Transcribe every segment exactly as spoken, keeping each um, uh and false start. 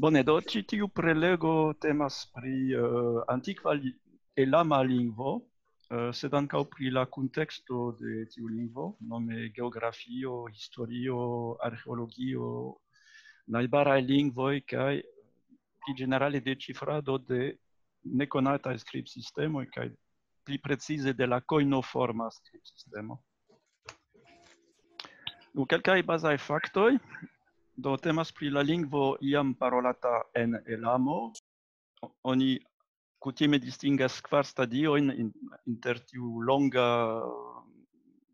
Bone, do ĉi tiu prelego temas pri uh, antikva elama lingvo, uh, sed ankaŭ pri la kunteksto de tiu lingvo, nome geografio, historio, arkeologio, najbaraj lingvoj kaj pli ĝenerale deĉifrado de nekonataj skribsistemoj kaj pli precize de la kojnoforma skribsistemo. Nu, kelkaj bazaj faktoj. Do temas pri la lingvo iam parolata en Elamo. Oni kutime distingas kvar stadiojn inter tiu longa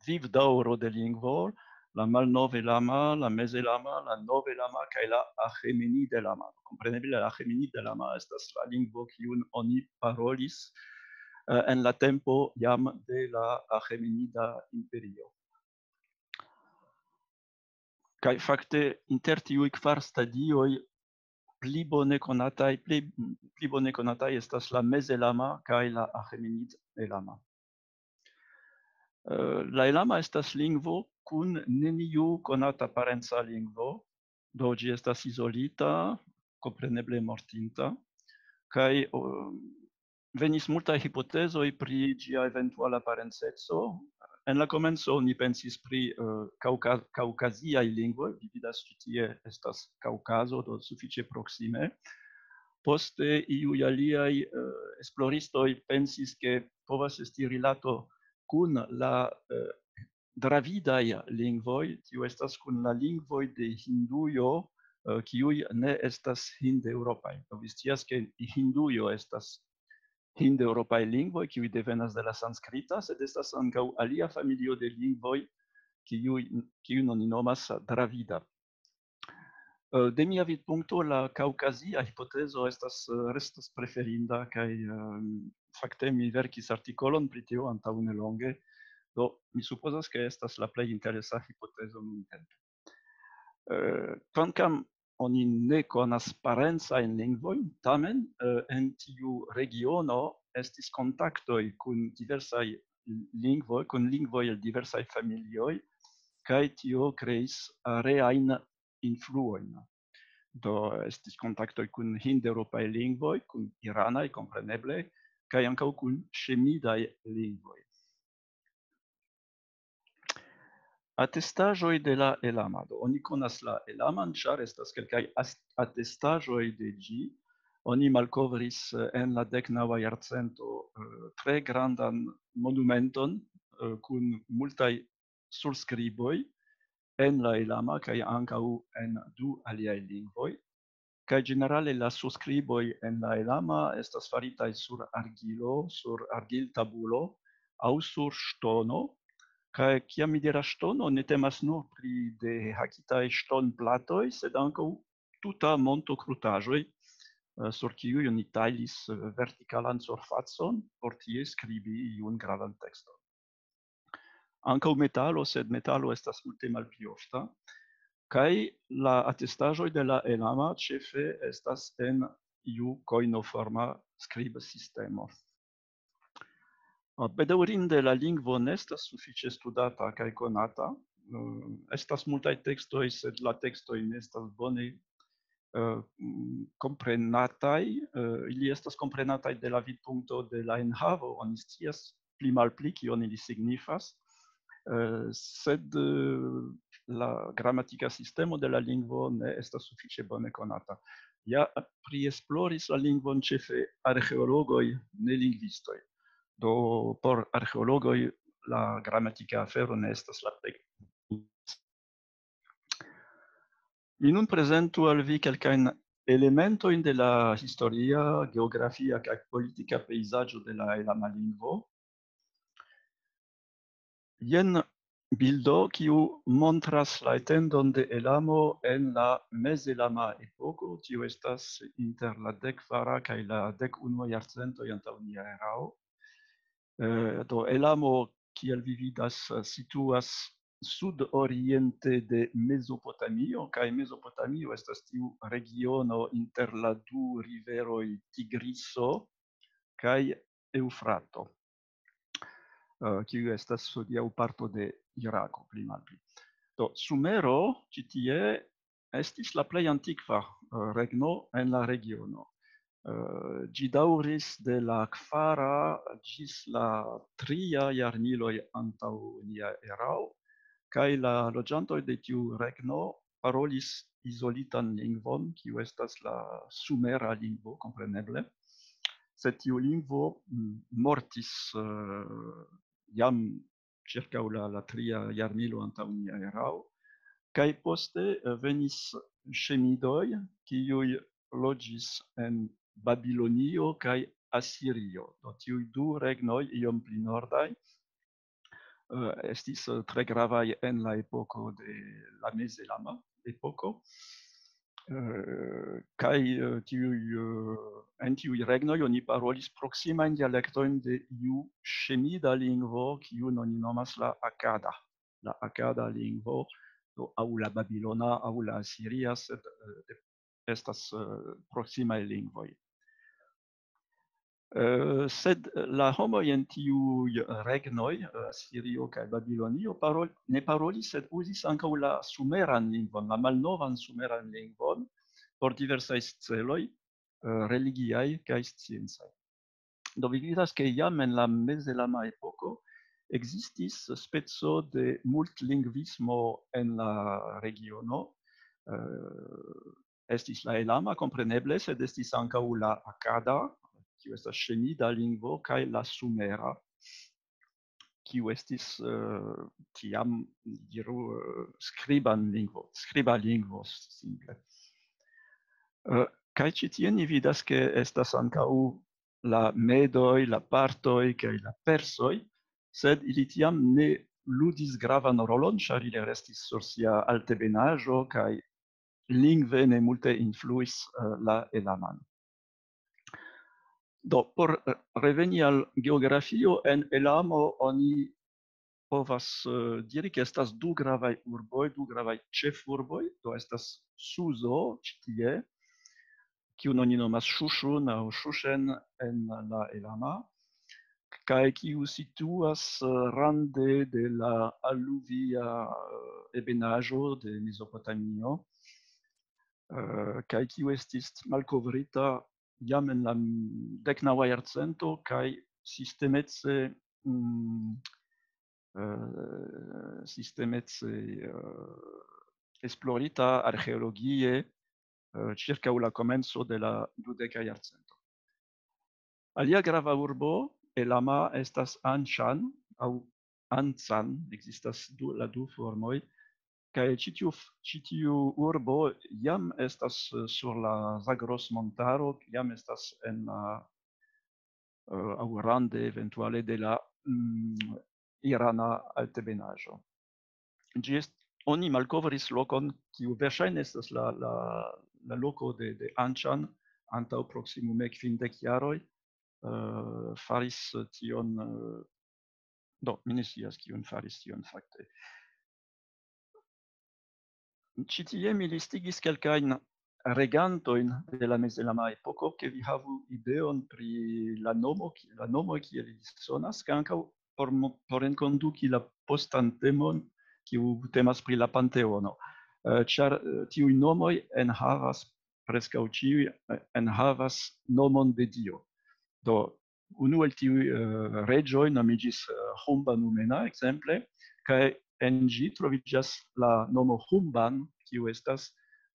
vivdaŭro de lingvo, la malnove lama, la meze lama, la nove lama kaj la ahemenide lama. Kompreneble la ahemenide lama estas la lingvo kiun oni parolis uh, en la tempo jam de la ahemenida imperio. Kaj fakte inter tiuj kvar stadioj pli bone konataj, pli, pli bone konataj estas la mezelama kaj la ahemenid elama. Uh, la elama estas lingvo kun neniu konata parenca lingvo, do ĝi estas izolita, kompreneble mortinta, kaj uh, venis multaj hipotezoj pri ĝia eventuala parenceco. En la komenco oni pensis pri uh, kaŭkaziaj lingvoj, vi vidas ĉi tie estas Kaŭkazo, do sufiĉe proksime. Poste iuj aliaj uh, esploristoj pensis, ke povas esti rilato kun la uh, dravidaj lingvoj, tio estas kun la lingvoj de Hindujo, uh, kiuj ne estas hindeŭropaj. Do vi scias, ke Hindujo estas hindeŭropaj lingvoj, kiuj devenas de la sanskrita, sed estas ankaŭ alia familio de lingvoj, kiujn oni nomas dravida. Eh, de mia vidpunkto, la kaŭkazia hipotezo estas, eh, restas preferinda, kaj, eh, fakte mi verkis artikolon pri tio antaŭ nelonge. Do, mi supozas, ke estas la plej interesa hipotezo nuntempe. Eh, kvankam oni ne konas parencajn lingvojn, tamen eh, en tiu regiono estis kontaktoj kun diversaj lingvoj, kun lingvoj el diversaj familioj, kaj tio kreis areajn influojn. Do estis kontaktoj kun hindeŭropaj lingvoj, kun iranaj, kompreneble, kaj ankaŭ kun ŝemidaj lingvoj. Atestaĵoj de la elamado. Oni konas la elaman, ĉar estas kelkaj atestaĵoj de ĝi. Oni malkovris eh, en la deknaŭa jarcento eh, tre grandan monumenton eh, kun multaj surskriboj en la elama kaj ankaŭ en du aliaj lingvoj. Kaj ĝenerale la surskriboj en la elama estas faritaj sur argilo, sur argiltabulo aŭ sur ŝtono. Kaj kiam mi diras ŝtono, ne temas nur pri dehakitaj ŝtonplatoj, sed ankaŭ tuta monto krutaĵoj, eh, sur kiuj oni tajlis eh, vertikalan surfacon por tie skribi iun gravan tekston. Ankaŭ metalo, sed metalo estas multe malpli ofta. Kaj la atestaĵoj de la elama ĉefe estas en iu kojnoforma skribsistemo. Bedaŭrinde la lingvo ne estas sufiĉe studata kaj konata. Eh, estas multaj tekstoj, sed la tekstoj ne estas bone eh, komprenataj. Eh, ili estas komprenataj de la vidpunkto de la enhavo, oni scias pli malpli kion ili signifas, eh, sed eh, la gramatika sistemo de la lingvo ne estas sufiĉe bone konata. Ja priesploris la lingvon ĉefe arkeologoj, ne lingvistoj. Do por arkeologoj la gramatika afero ne estas la plej. Mi nun prezentu al vi kelkajn elementojn de la historia, geografia kaj politika pejzaĝo de la elama lingvo. Jen bildo, kiu montras la etendon de elamo en la mezelama epoko. Tio estas inter la dekvara kaj la dekunua jarcentoj antaŭ nia erao. Eh, do elamo, kiel vi vidas, eh, situas sudoriente de Mezopotamio, kaj Mezopotamio estas tiu regiono inter la du riveroj Tigriso kaj Eŭfrato, eh, kiu estas hodiaŭ parto de Irako, pli malpli. Do, Sumero ĉi tie estis la plej antikva, eh, regno en la regiono. Eh, ĝi daŭris de la kvara ĝis la tria jarmiloj antaŭ nia erao, kaj la loĝantoj de tiu regno parolis izolitan lingvon, kiu estas la sumera lingvo, kompreneble. Sed tiu lingvo, mm, mortis, eh, jam ĉirkaŭ la, la tria jarmilo antaŭ nia erao, kaj poste, eh, venis ŝemidoj, kiuj loĝis en Babilonio kaj Asirio. Do tiuj du regnoj iom pli nordaj, eh, estis, eh, tre gravaj en la epoko de la mezelama epoko. Eh, kaj, eh, tiuj, eh, en tiuj regnoj oni parolis proksimajn dialektojn de iu ŝemida lingvo, kiun oni nomas la akada. La akada lingvo, do aŭ la babilona, aŭ la asiria, sed, eh, de-, estas, eh, proksimaj lingvoj. Eh, sed la homoj en tiuj regnoj, eh, Asirio kaj Babilonio, parol-, ne parolis, sed uzis ankaŭ la sumeran lingvon, la malnovan sumeran lingvon, por diversaj celoj, eh, religiaj kaj sciencaj. Do vi vidas, ke jam en la mezelama epoko ekzistis speco de multlingvismo en la regiono. Eh, estis la elama, kompreneble, sed estis ankaŭ la akada, kiu estas ŝemida lingvo, kaj la sumera, kiu estis, eh, tiam, diru, eh, skriban lingvo, skriba lingvo, simple. Eh, kaj ĉi tie ni vidas, ke estas ankaŭ la medoj, la partoj kaj la persoj, sed ili tiam ne ludis gravan rolon, ĉar ili restis sur sia altebenaĵo, kaj lingve ne multe influis, eh, la elaman. Do, por, eh, reveni al geografio, en Elamo oni povas, eh, diri, ke estas du gravaj urboj, du gravaj ĉefurboj, do estas Suzo ĉi tie, kiun oni nomas Ŝuŝun aŭ Ŝuŝen en la Elama, kaj kiu situas, eh, rande de la aluvia, eh, ebenaĵo de Mezopotamio, eh, kaj kiu estis malkovrita jam en la deknaŭa jarcento, kaj sistemece, mm, eh, sistemece, eh, esplorita arĥeologie, eh, ĉirkaŭ la komenco de la dudeka jarcento. Alia grava urbo, Elama, estas Anĉan aŭ Ancan, ekzistas du, la du formoj, kaj ĉi tiu f-, ĉi tiu urbo jam estas, eh, sur la Zagros-montaro, jam estas en la, eh, aŭ rande eventuale de la, mm, irana altebenaĵo. Ĝi est-, oni malkovris lokon, kiu verŝajne estas la, la, la loko de, de Anĉan, antaŭ proksimume kvindek jaroj, eh, faris tion, eh, do, mi ne scias, kiun faris tion fakte. Ĉi tie mi listigis kelkajn regantojn de la mezelama epoko, ke vi havu ideon pri la nomo, ki-, la nomo, kiel ili sonas, kaj ankaŭ por mo-, por enkonduki la postan temon, kiu temas pri la Panteono. Eh, ĉar, eh, tiuj nomoj enhavas, preskaŭ ĉiuj, eh, enhavas nomon de dio. Do, unu el tiuj, eh, reĝoj nomiĝis, eh, Humba Numena, ekzemple, kaj en ĝi troviĝas la nomo Humban, kiu estas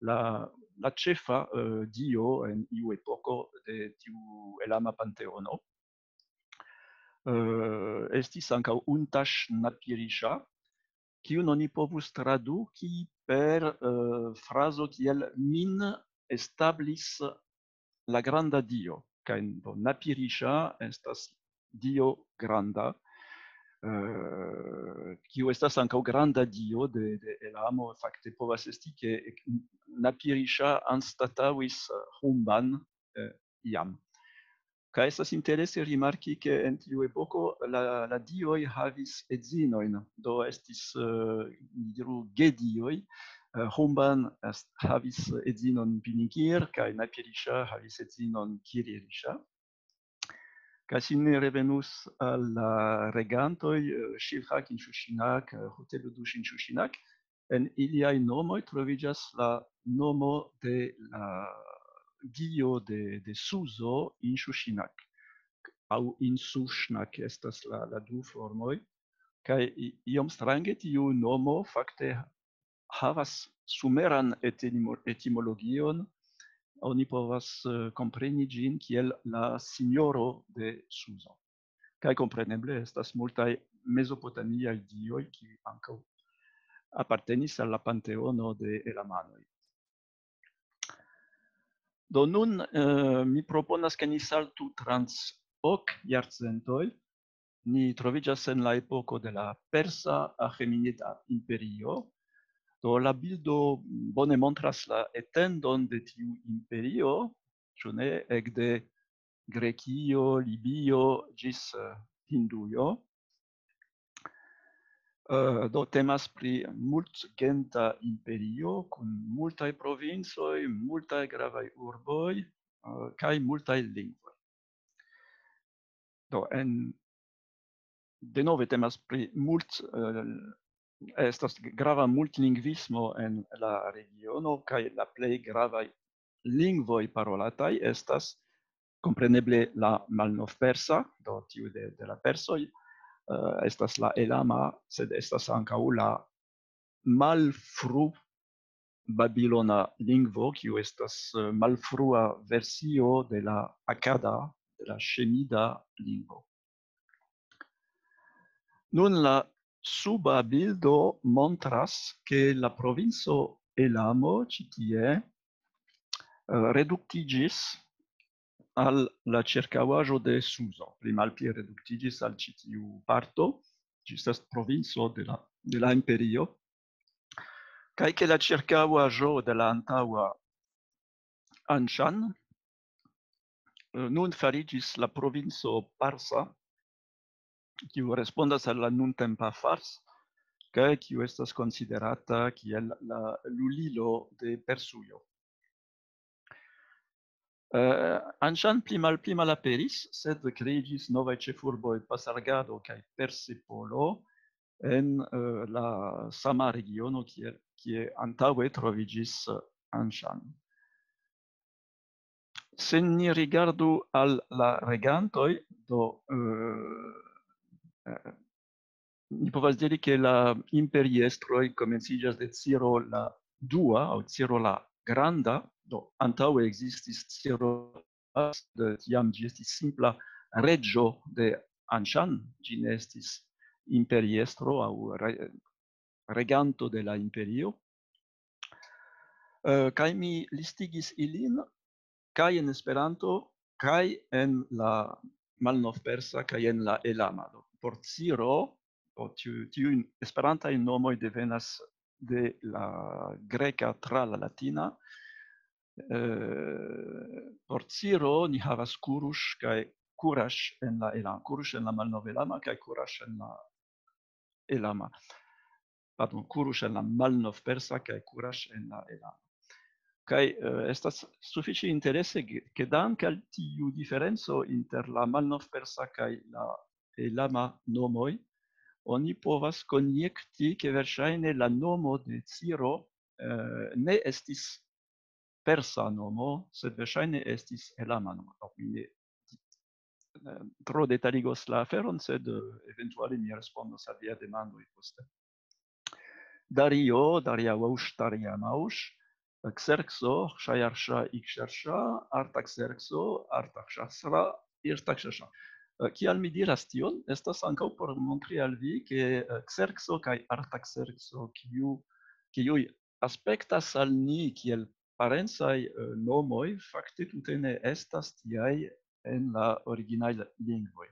la, la ĉefa, eh, dio en iu epoko de tiu elama panteono. Eh, estis ankaŭ Untash Napiriŝa, kiun oni povus traduki per, eh, frazo kiel "Min establis la granda dio", kaj, do, Napiriŝa estas dio granda, eh, kiu estas ankaŭ granda dio de, de Elamo. Fakte povas esti, ke ek-, Napiriŝa anstataŭis, eh, Humban, eh, iam. Kaj estas interese rimarki, ke en tiu epoko la, la dioj havis edzinojn, do estis, eh, diru, gedioj. Eh, Humban est-, havis edzinon Pinikir, kaj Napiriŝa havis edzinon Kiririŝa. Kaj se ni revenus al la regantoj, eh, Shilhak Inshushinak, eh, Huteludush Inshushinak, en iliaj nomoj troviĝas la nomo de la dio de, de Suzo, Inshushinak, aŭ Insushnak estas la, la du formoj, kaj i-, iom strange tiu nomo fakte havas sumeran etimo-, etimologion, oni povas, eh, kompreni ĝin kiel la sinjoro de Suzo. Kaj kompreneble estas multaj mezopotamiaj dioj, kiuj ankaŭ apartenis al la panteono de elamanoj. Do nun, eh, mi proponas, ke ni saltu trans ok jarcentoj. Ni troviĝas en la epoko de la Persa Aĥemenida Imperio. Do la bildo bone montras la etendon de tiu imperio, ĉu ne, ekde Grekio, Libio ĝis, eh, Hindujo. Eh, do temas pri multgenta imperio kun multaj provincoj, multaj gravaj urboj, eh, kaj multaj lingvoj. Do en, denove temas pri mult-, eh, estas grava multlingvismo en la regiono, kaj la plej gravaj lingvoj parolataj estas kompreneble la malnovpersa, do tiu de, de la persoj, eh, estas la elama, sed estas ankaŭ la malfru babilona lingvo, kiu estas, eh, malfrua versio de la akada, de la ŝemida lingvo. Nun la suba bildo montras, ke la provinco Elamo ĉi tie, eh, reduktiĝis al la ĉirkaŭaĵo de Suzo, pli malpli reduktiĝis al ĉi tiu parto, ĝi estas provinco de la, de la imperio, kaj ke la ĉirkaŭaĵo de la antaŭa Anshan, eh, nun fariĝis la provinco Parsa, kiu respondas al la nuntempa Fars, kaj kiu estas konsiderata kiel la lulilo de Persujo. Eh, Anshan pli malpli malaperis, sed kreiĝis novaj ĉefurboj Pasargado kaj Persepolo en, eh, la sama regiono, kie, kie antaŭe troviĝis, eh, Anshan. Se ni rigardu al la regantoj, do, eh, eh, ni povas diri, ke la imperiestroj komenciĝas de Ciro la dua aŭ Ciro la Granda, do antaŭe ekzistis Ciro, sed tiam ĝi estis simpla reĝo de Anshan, ĝi ne estis imperiestro aŭ re-, reganto de la imperio. Eh, kaj mi listigis ilin, kaj en Esperanto, kaj en la malnovpersa, kaj en la elama. Do, por Ciro, do tiu, tiuj esperantaj nomoj devenas de la greka tra la latina. Eh, por Ciro ni havas Kurush kaj Kurash en la elama, Kurush en la malnovelama kaj Kurash en la elama. Pardon, Kurush en la malnovpersa kaj Kurash en la elama. Kaj, eh, estas sufiĉe interese, ke, ke dank al tiu diferenco inter la malnovpersa kaj la elama nomoj, oni povas konjekti, ke verŝajne la nomo de Ciro, eh, ne estis persa nomo, sed verŝajne estis elama nomo. Do, mi ne, eh, tro detaligos la aferon, sed, eh, eventuale mi respondos al via demandoj poste. Dario, Dariaush, Dariamaush, Xerxo, Xayarsha, Ixersha, Artaxerxo, Artaxasra, Irtaxasha. Eh, kial mi diras tion? Estas ankaŭ por montri al vi, ke, eh, Xerxo kaj Artaxerxo, kiu, kiuj aspektas al ni kiel parencaj, eh, nomoj, fakte tute ne estas tiaj en la originaj lingvoj.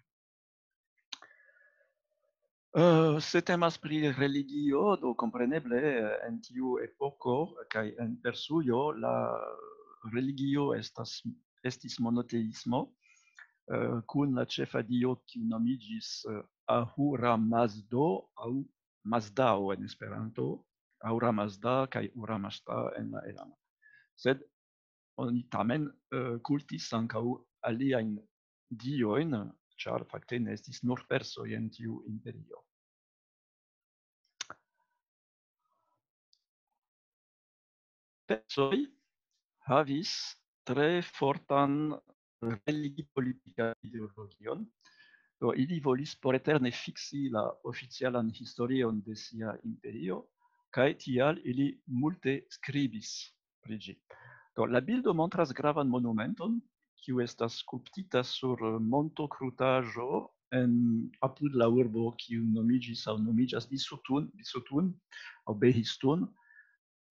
Eh, se temas pri religio, do kompreneble, eh, en tiu epoko kaj en Persujo la religio estas, estis monoteismo, eh, kun la ĉefa dio, kiu nomiĝis, eh, Ahura Mazdo aŭ Mazdao en Esperanto, Ahura Mazda kaj Ahura Mazda en la elama. Sed oni tamen, eh, kultis ankaŭ aliajn diojn, ĉar fakte ne estis nur persoj en tiu imperio. persoj havis tre fortan religipolitikan ideologion. Do, ili volis por eterne fiksi la oficialan historion de sia imperio, kaj tial ili multe skribis pri ĝi. Do, la bildo montras gravan monumenton, kiu estas skulptita sur montokrutaĵo en, apud la urbo, kiu nomiĝis aŭ nomiĝas Bisutun, Bisutun aŭ Behistun,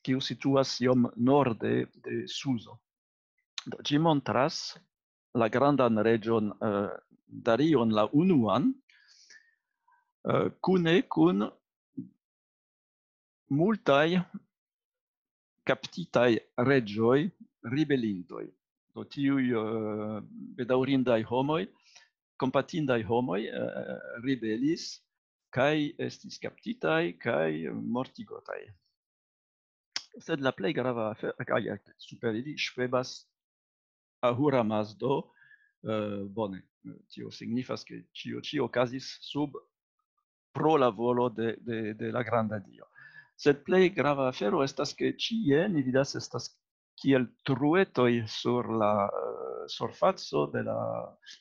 kiu situas iom norde de Suzo. Do, ĝi montras la grandan reĝon, eh, Darion la unuan, eh, kune kun multaj kaptitaj reĝoj ribelintoj. Do, tiuj, eh, bedaŭrindaj homoj, kompatindaj homoj, eh, ribelis kaj estis kaptitaj kaj mortigotaj. Sed la plej grava afero, kaj super ili ŝvebas Ahura Mazdo, eh, bone, tio signifas, ke ĉio ĉi okazis sub pro la volo de, de, de la granda dio. Sed plej grava afero estas, ke ĉie ni vidas estas kiel truetoj sur la, eh, surfaco de la,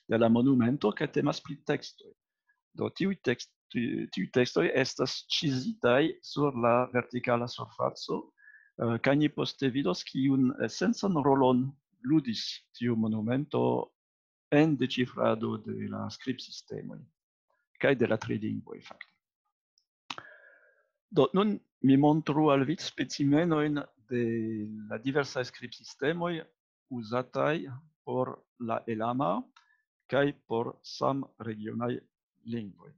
de la monumento, ke temas pri tekstoj. Do, tiuj tekst-, ti-, tiuj tekstoj estas ĉizitaj sur la vertikala surfaco, eh, kaj ni poste vidos, kiun esencan rolon ludis tiu monumento en deĉifrado de la skribsistemoj kaj de la trilingvoj, fakte. Do, nun mi montru al vi specimenojn de la diversaj skribsistemoj uzataj por la elama kaj por samregionaj lingvoj.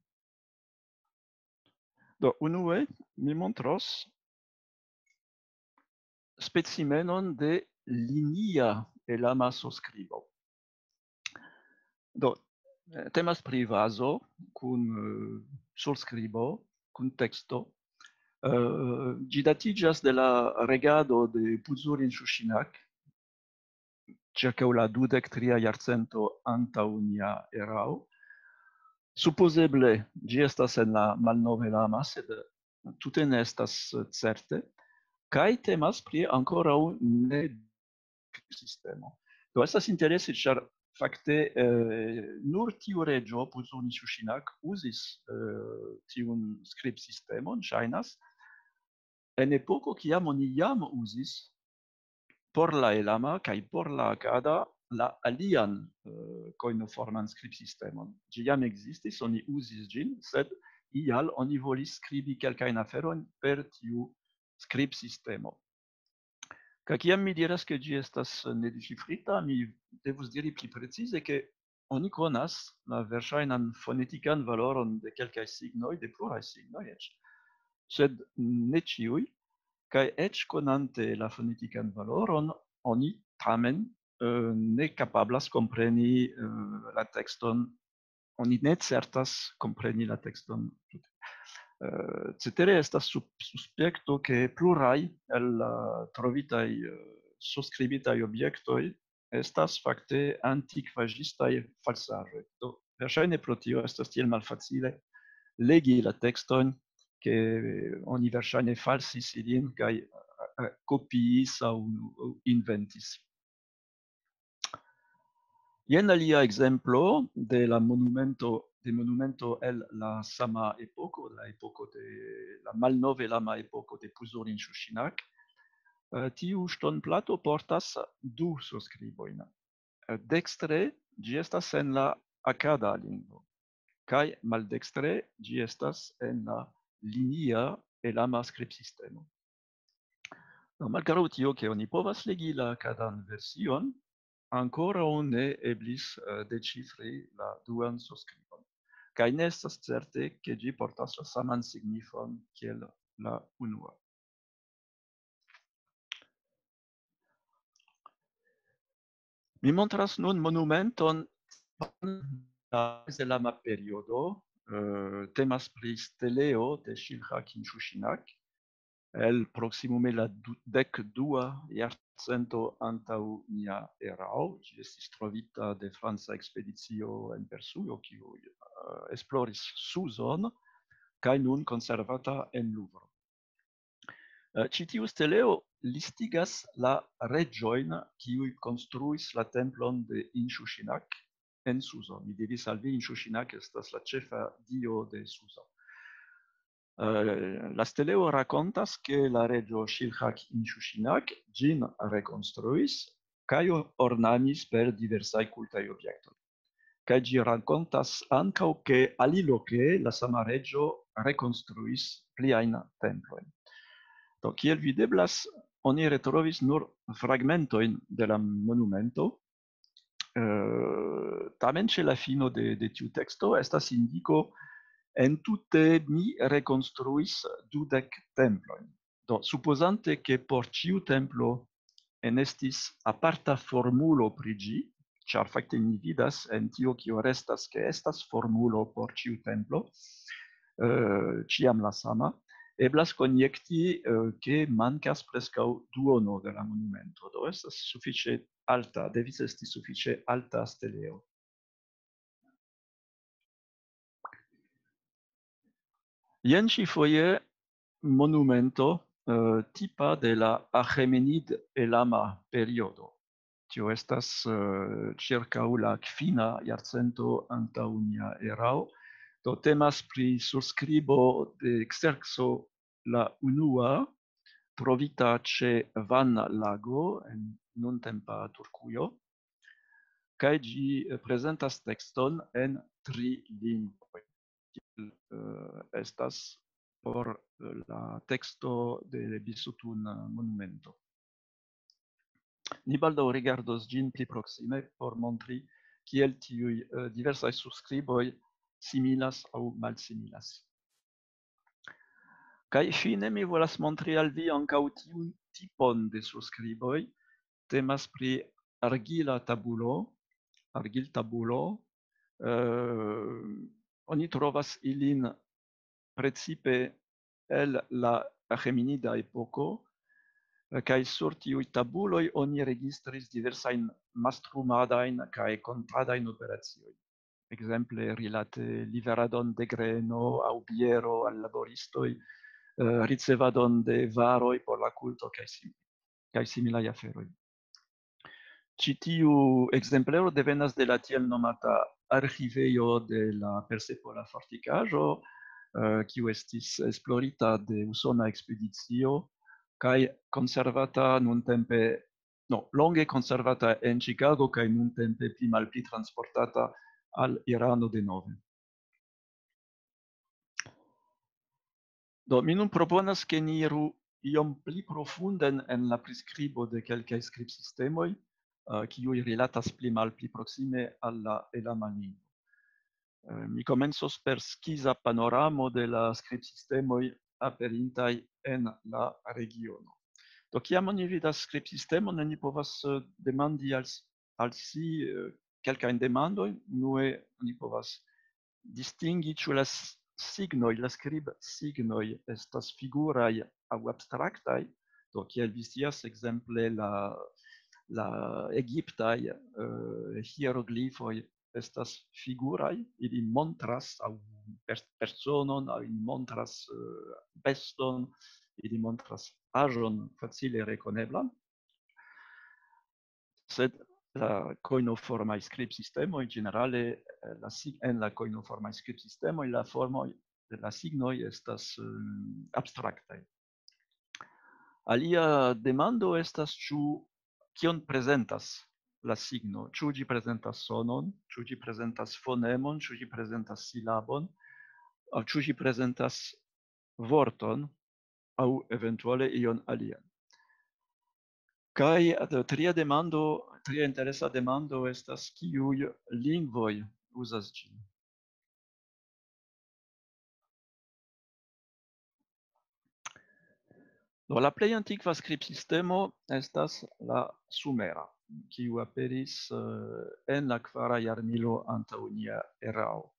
Do, unue mi montros specimenon de linia elama surskribo. Do, eh, temas pri vazo kun, eh, surskribo, kun teksto. Eh, ĝi datiĝas de la regado de Puzurin Ŝuŝinak, ĉirkaŭ la dudek tria jarcento antaŭ nia erao. Supozeble ĝi estas en la malnove lama, sed tute ne estas certe. Kaj temas pri ankoraŭ ne sistemo. Do, estas interese, ĉar fakte, eh, nur tiu reĝo, Puzoni Ŝuŝinak, uzis, eh, tiun skribsistemon, ŝajnas, en epoko, kiam oni jam uzis por la elama kaj por la akada la alian, eh, kojnoforman skribsistemon. Ĝi jam ekzistis, oni uzis ĝin, sed ial oni volis skribi kelkajn aferojn per tiu skribsistemo. Kaj kiam mi diras, ke ĝi estas nedeĉifrita, mi devus diri pli precize, ke oni konas la verŝajnan fonetikan valoron de kelkaj signoj, de pluraj signoj eĉ, sed ne ĉiuj, kaj eĉ konante la fonetikan valoron, oni tamen, eh, ne kapablas kompreni, eh, la tekston, oni ne certas kompreni la tekston tute. Eh, cetere estas sup-, suspekto, ke pluraj el la trovitaj, eh, surskribitaj objektoj estas fakte antikvaĵistaj falsaĵoj. Do, verŝajne pro tio estas tiel malfacile legi la tekstojn, ke oni verŝajne falsis ilin kaj, eh, eh, kopiis aŭ inventis. Jen alia ekzemplo de la monumento, de monumento el la sama epoko, la epoko de la malnove lama epoko de Puzurin Ŝuŝinak. Eh, tiu ŝtonplato portas du surskribojn. Eh, dekstre ĝi estas en la akada lingvo, kaj maldekstre ĝi estas en la linia elama skribsistemo. Do, malgraŭ tio, ke oni povas legi la akadan version, ankoraŭ ne eblis, eh, deĉifri la duan surskribon. Kaj ne estas certe, ke ĝi portas la saman signifon kiel la unua. Mi montras nun monumenton de la mezlama periodo, eh, temas pri steleo de Ŝilha Kinŝuŝinak, el proksimume la du-, dek dua jarcento antaŭ nia erao. Ĝi estis trovita de franca ekspedicio en Persujo, kiu, eh, esploris Suzon, kaj nun konservata en Louvre. Eh, ĉi tiu steleo listigas la reĝojn, kiuj konstruis la templon de Inshushinak en Suzo. Mi diris al vi, Inshushinak estas la ĉefa dio de Suzo. Eh, la steleo rakontas, ke la reĝo Shilhak Inshushinak ĝin rekonstruis kaj ornamis per diversaj kultaj objektoj. Kaj ĝi rakontas ankaŭ, ke aliloke la sama reĝo rekonstruis pliajn templojn. Do, kiel videblas, oni retrovis nur fragmentojn de la monumento. Eh, tamen ĉe la fino de, de tiu teksto estas indiko: "Entute mi rekonstruis dudek templojn." Do, supozante, ke por ĉiu templo enestis aparta formulo pri ĝi, ĉar fakte ni vidas en tio, kio restas, ke estas formulo por ĉiu templo, eh, ĉiam la sama, eblas konjekti, eh, ke mankas preskaŭ duono de la monumento. Do, estas sufiĉe alta, devis esti sufiĉe alta steleo. Jen ĉi foje monumento, eh, tipa de la Aĥemenid-Elama periodo. Tio estas, eh, ĉirkaŭ la kvina jarcento antaŭ nia erao. Do, temas pri surskribo de Xerxo la unua, trovita ĉe Van Lago en nuntempa Turkujo, kaj ĝi, eh, prezentas tekston en tri lingvoj. Tiel, eh, estas por, eh, la teksto de Bisutun, eh, monumento. Ni baldaŭ rigardos ĝin pli proksime por montri, kiel tiuj, eh, diversaj surskriboj similas aŭ malsimilas. Kaj fine mi volas montri al vi ankaŭ tiun tipon de surskriboj. Temas pri argila tabulo, argiltabulo. Eh, oni trovas ilin precipe el la Aĥemenida epoko, eh, kaj sur tiuj tabuloj oni registris diversajn mastrumadajn kaj kontradajn operaciojn. Ekzemple, rilate liveradon de greno aŭ biero al laboristoj, eh, ricevadon de varoj por la kulto kaj sim-, kaj similaj aferoj. Ĉi tiu ekzemplero devenas de la tiel nomata arĥivejo de la Persepola fortikaĵo, eh, kiu estis esplorita de usona ekspedicio kaj konservata nuntempe, no, longe konservata en Ĉikago kaj nuntempe pli malpli transportata al Irano denove. Do, mi nun proponas, ke ni iru iom pli profunden en la priskribo de kelkaj skribsistemoj, eh, kiuj rilatas pli malpli proksime al la elama lingvo. Eh, mi komencos per skiza panoramo de la skribsistemoj aperintaj en la regiono. Do, kiam oni vidas skribsistemon, oni povas, eh, demandi al s-, al si, eh, kelkajn demandojn. Unue, oni povas distingi, ĉu la s-, signoj, la skribsignoj estas figuraj aŭ abstraktaj. Do, kiel vi scias, ekzemple la, la egiptaj, eh, hieroglifoj estas figuraj, ili montras aŭ per-, personon, aŭ ili montras, eh, beston, ili montras aĵon facile rekoneblan. Sed la koinoformaj skribsistemoj, ĝenerale, eh, la sig-, en la koinoformaj skribsistemoj la formoj de la signoj estas, eh, abstraktaj. Alia demando estas, ĉu, kion prezentas la signo, ĉu ĝi prezentas sonon, ĉu ĝi prezentas fonemon, ĉu ĝi prezentas silabon, aŭ ĉu ĝi prezentas vorton, aŭ eventuale ion alian. Kaj, eh, tria demando, tria interesa demando estas, kiuj lingvoj uzas ĝin. Do, la plej antikva skribsistemo estas la sumera, kiu aperis, eh, en la kvara jarmilo antaŭ nia erao.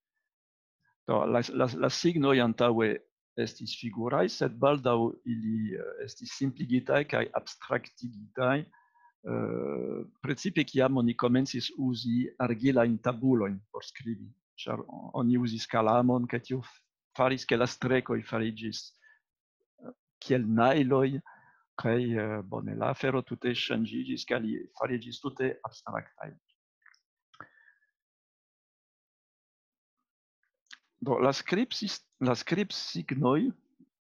Do, la, la, la signoj antaŭe estis figuraj, sed baldaŭ ili, eh, estis simpligitaj kaj abstraktigitaj, eh, precipe kiam oni komencis uzi argilajn tabulojn por skribi, ĉar oni uzis kalamon, kaj tio faris, ke la strekoj fariĝis, eh, kiel najloj, Kaj, eh, bone, la afero tute ŝanĝiĝis, kaj li fariĝis tute abstraktaj. Do, la skribsis-, la skribsignoj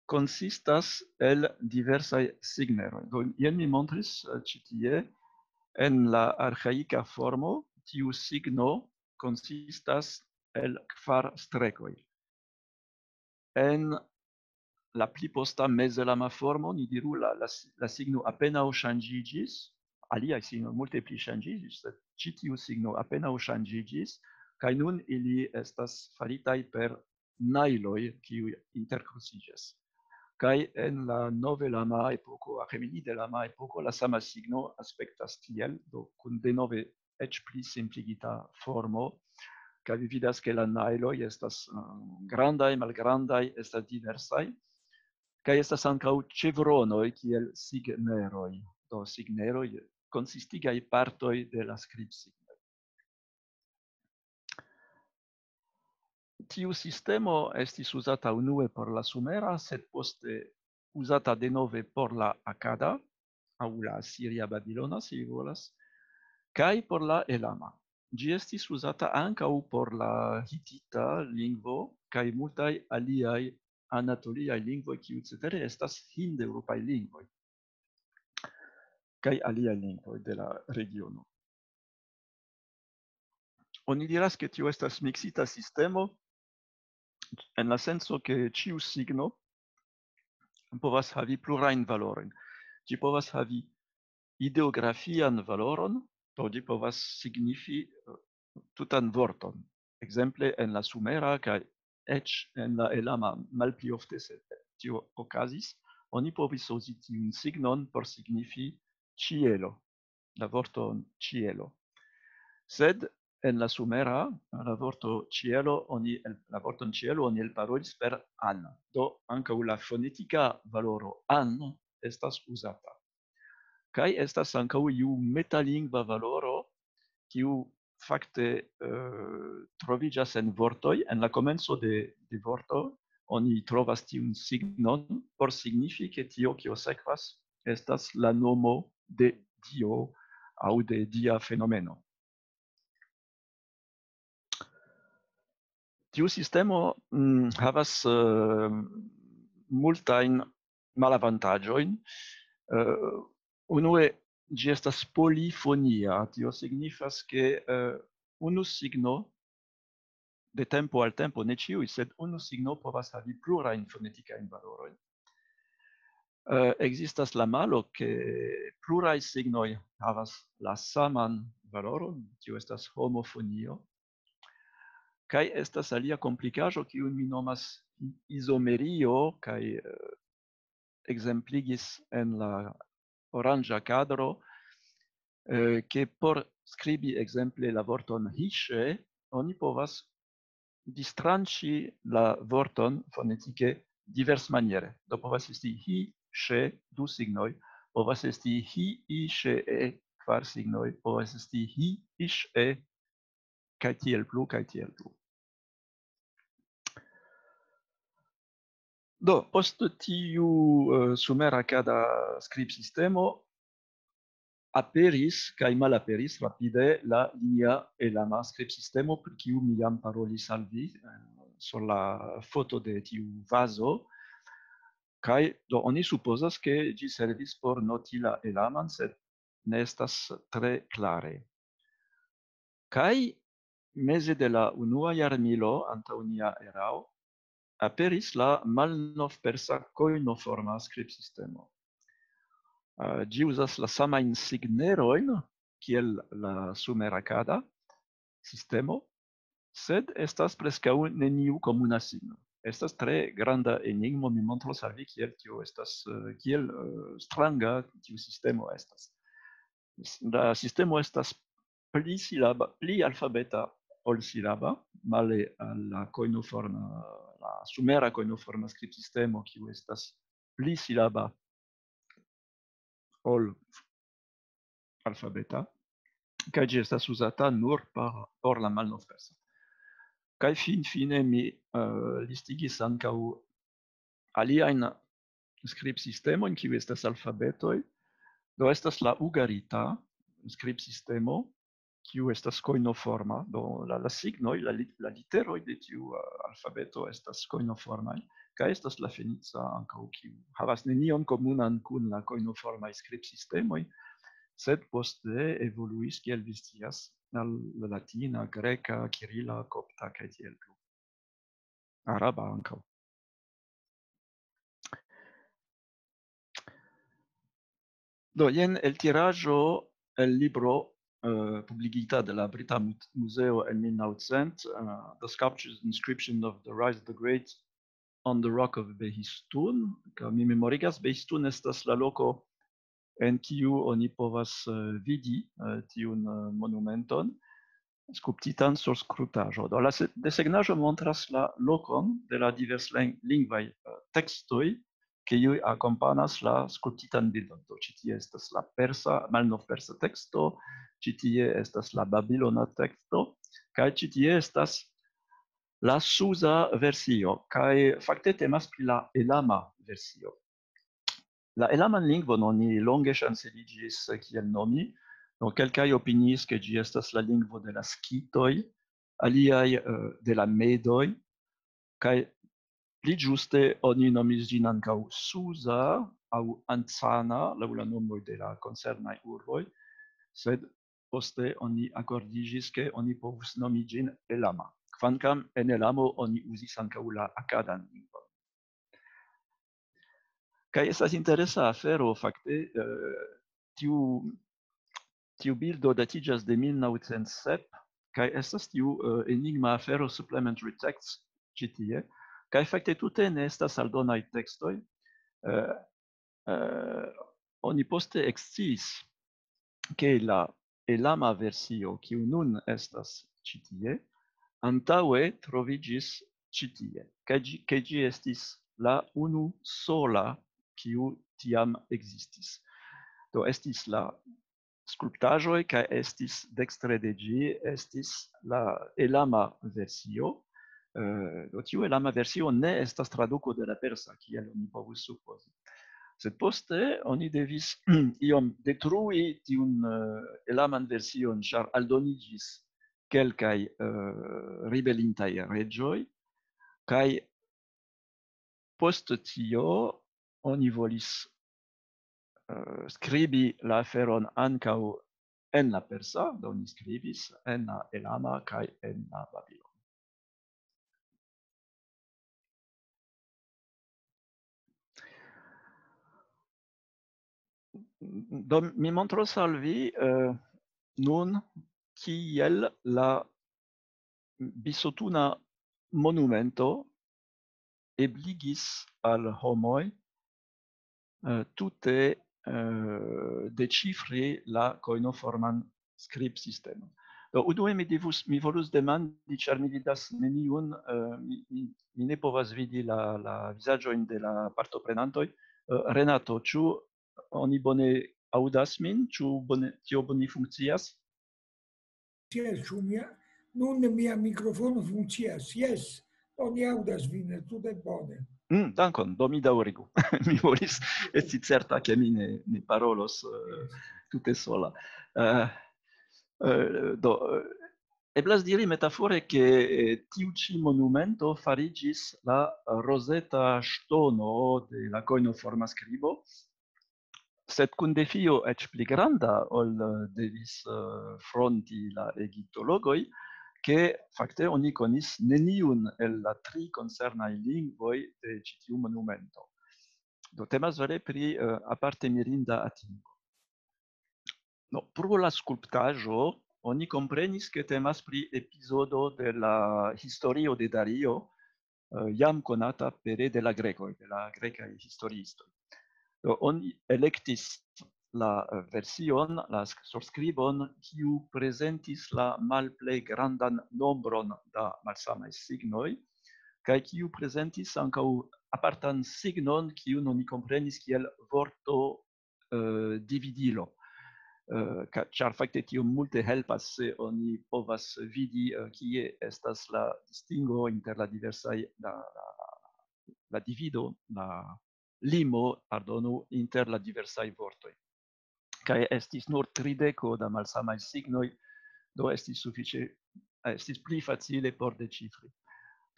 konsistas el diversaj signeroj. Do, jen mi montris, eh, ĉi tie, en la arĥaika formo, tiu signo konsistas el kvar strekoj. En la pli posta mezelama formo, ni diru, la, la si-, la signo apenaŭ ŝanĝiĝis, aliaj signoj multe pli ŝanĝiĝis, sed ĉi tiu signo apenaŭ ŝanĝiĝis, kaj nun ili estas faritaj per najloj, kiuj interkruciĝas. Kaj en la novelama epoko, Aĥemenide-lama epoko, la sama signo aspektas tiel, do kun denove eĉ pli simpligita formo, kaj vi vidas, ke la najloj estas, eh, grandaj, malgrandaj, estas diversaj, kaj estas ankaŭ ĉevronoj kiel signeroj. Do, signeroj konsistigaj partoj de la skribsignoj. Tiu sistemo estis uzata unue por la sumera, sed poste uzata denove por la akada, aŭ la asiria babilona, se vi volas, kaj por la elama. Ĝi estis uzata ankaŭ por la hitita lingvo kaj multaj aliaj anatoliaj lingvoj, kiuj cetere estas hindeŭropaj lingvoj, kaj aliaj lingvoj de la regiono. Oni diras, ke tio estas miksita sistemo, en la senso, ke ĉiu signo povas havi plurajn valorojn. Ĝi povas havi ideografian valoron, do ĝi povas signifi, eh, tutan vorton. Ekzemple en la sumera kaj eĉ en la elama malpli ofte, se tio okazis, oni povis uzi tiun signon por signifi ĉielo, la vorton ĉielo. Sed en la sumera, la vorto ĉielo, oni el-, la vorton ĉielo oni elparolis per an. Do ankaŭ la fonetika valoro an estas uzata. Kaj estas ankaŭ iu metalingva valoro, kiu fakte, eh, troviĝas en vortoj. En la komenco de, de vorto oni trovas tiun signon por signifi, ke tio, kio sekvas, estas la nomo de Dio aŭ de dia fenomeno. Tiu sistemo, mm, havas, eh, multajn malavantaĝojn. Eh, unue, ĝi estas polifonia. Tio signifas, ke, eh, unu signo de tempo al tempo, ne ĉiuj, sed unu signo povas havi plurajn fonetikajn valorojn. Eh, ekzistas la malo, ke pluraj signoj havas la saman valoron, tio estas homofonio. Kaj estas alia komplikaĵo, kiun mi nomas izomerio, kaj, eh, ekzempligis en la oranĝa kadro, eh, ke por skribi ekzemple la vorton hiŝe, oni povas distranĉi la vorton fonetike diversmaniere. Do povas esti hi, ŝe, du signoj, povas esti hi, i, ŝe, e, kvar signoj, povas esti hi, iŝ, e, kaj tiel plu, kaj tiel plu. Do, post tiu, eh, sumera kada skribsistemo aperis kaj malaperis rapide la linia elama skribsistemo, pri kiu mi jam parolis al vi, eh, sur la foto de tiu vazo. Kaj do oni supozas, ke ĝi servis por noti la elaman, sed ne estas tre klare. Kaj meze de la unua jarmilo antaŭ nia erao aperis la malnovpersa kojnoforma skribsistemo. Eh, ĝi uzas la samajn signerojn kiel la sumerakada sistemo, sed estas preskaŭ neniu komuna signo. Estas tre granda enigmo, mi montros al vi, kiel tio estas, eh, kiel, eh, stranga tiu sistemo estas. S-, la sistemo estas pli silaba, pli alfabeta ol silaba, male al la kojnoforma, la sumera kojnoforma skribsistemo, kiu estas pli silaba ol alfabeta, kaj ĝi estas uzata nur por, por la malnovpersa. Kaj finfine mi, eh, listigis ankaŭ aliajn skribsistemojn, kiuj estas alfabetoj. Do estas la ugarita skribsistemo, kiu estas kojnoforma. Do la, la signoj, la, li- la literoj de tiu uh, alfabeto estas kojnoformaj, kaj estas la fenica ankaŭ, kiu havas nenion komunan kun la kojnoformaj skribsistemoj, sed poste evoluis, kiel vi scias, al la latina, greka, kirila, kopta kaj tiel plu. Araba ankaŭ. Do, jen eltiraĵo el libro uh, publigita de la Brita Mu- Muzeo en mil naŭcent, uh, The Sculpture's Inscription of the Rise of the Great on the Rock of Behistun. Kaj mi memorigas, Behistun estas la loko en kiu oni povas uh, vidi uh, tiun uh, monumenton skulptitan sur skulptaĵo. Do la se- desegnaĵo montras la lokon de la diverslingvaj uh, tekstoj, kiuj akompanas la skulptitan bildon. Do ĉi tie estas la persa, malnovpersa teksto, ĉi tie estas la babilona teksto, kaj ĉi tie estas la suza versio, kaj fakte temas pri la elama versio. La elaman lingvon oni longe ŝanceliĝis kiel nomi, do kelkaj opiniis, ke ĝi estas la lingvo de la skitoj, aliaj uh, de la medoj, kaj pli ĝuste oni nomis ĝin ankaŭ suza aŭ ancana, laŭ la nomoj de la koncernaj urboj, sed poste oni akordiĝis, ke oni povus nomi ĝin elama, kvankam en elamo oni uzis ankaŭ la akadan lingvon. Kaj estas interesa afero, fakte, uh, tiu, tiu bildo datiĝas de mil naŭcent sep, kaj estas tiu uh, enigma afero supplementary texts ĉi tie, kaj fakte tute ne estas aldonaj tekstoj. Uh, uh, oni poste eksciis, ke la elama versio, kiu nun estas ĉi tie, antaŭe troviĝis ĉi tie, ke ĝi, ke ĝi estis la unu sola, kiu tiam ekzistis. Do estis la skulptaĵoj, kaj estis dekstre de ĝi, estis la elama versio. Uh, tiu elama versio ne estas traduko de la persa, kiel oni povus supozi. Sed poste oni devis iom detrui tiun uh, elaman version, ĉar aldoniĝis kelkaj uh, ribelintaj reĝoj, kaj post tio oni volis uh, skribi la aferon ankaŭ en la persa, do ni skribis en la elama kaj en la babilona. Do mi montros al vi uh, nun kiel la bisotuna monumento ebligis al homoj uh, tute uh, deĉifri la kojnoforman skribsistemon. Do, unue mi, divus, mi volus demandi, ĉar mi vidas neniun, uh, mi, mi, mi ne povas vidi la, la vizaĝojn de la partoprenantoj. Uh, Renato, ĉu oni bone aŭdas min? Ĉu bone, tio bone funkcias? Yes, ĉu mia, nun mia mikrofono funkcias? Yes, oni aŭdas vin tute bone. Mm, dankon, do mi daŭrigu. Mi volis esti certa, ke mi ne, ne parolos uh, tute sola. Uh, uh, do, uh, eblas diri metafore, ke eh, tiu ĉi monumento fariĝis la rozeta ŝtono de la kojnoforma skribo, sed kun defio eĉ pli granda, ol eh, devis eh, fronti la egiptologoj, ke fakte oni konis neniun el la tri koncernaj lingvoj de ĉi tiu monumento. Do temas vere pri uh, aparte mirinda atingo. No, pro la skulptaĵo oni komprenis, ke temas pri epizodo de la historio de Dario, uh, jam konata pere de la grekoj, de la grekaj historiistoj. Do, oni elektis la uh, version, la sk- surskribon, kiu prezentis la malplej grandan nombron da malsamaj signoj, kaj kiu prezentis ankaŭ apartan signon, kiun oni komprenis kiel vorto uh, dividilo. Uh, ĉar fakte tio multe helpas, se oni povas vidi, uh, kie estas la distingo inter la diversaj, la, la, la divido, la, limo, pardonu, inter la diversaj vortoj. Kaj estis nur trideko da malsamaj signoj, do estis sufiĉe, estis pli facile por deĉifri.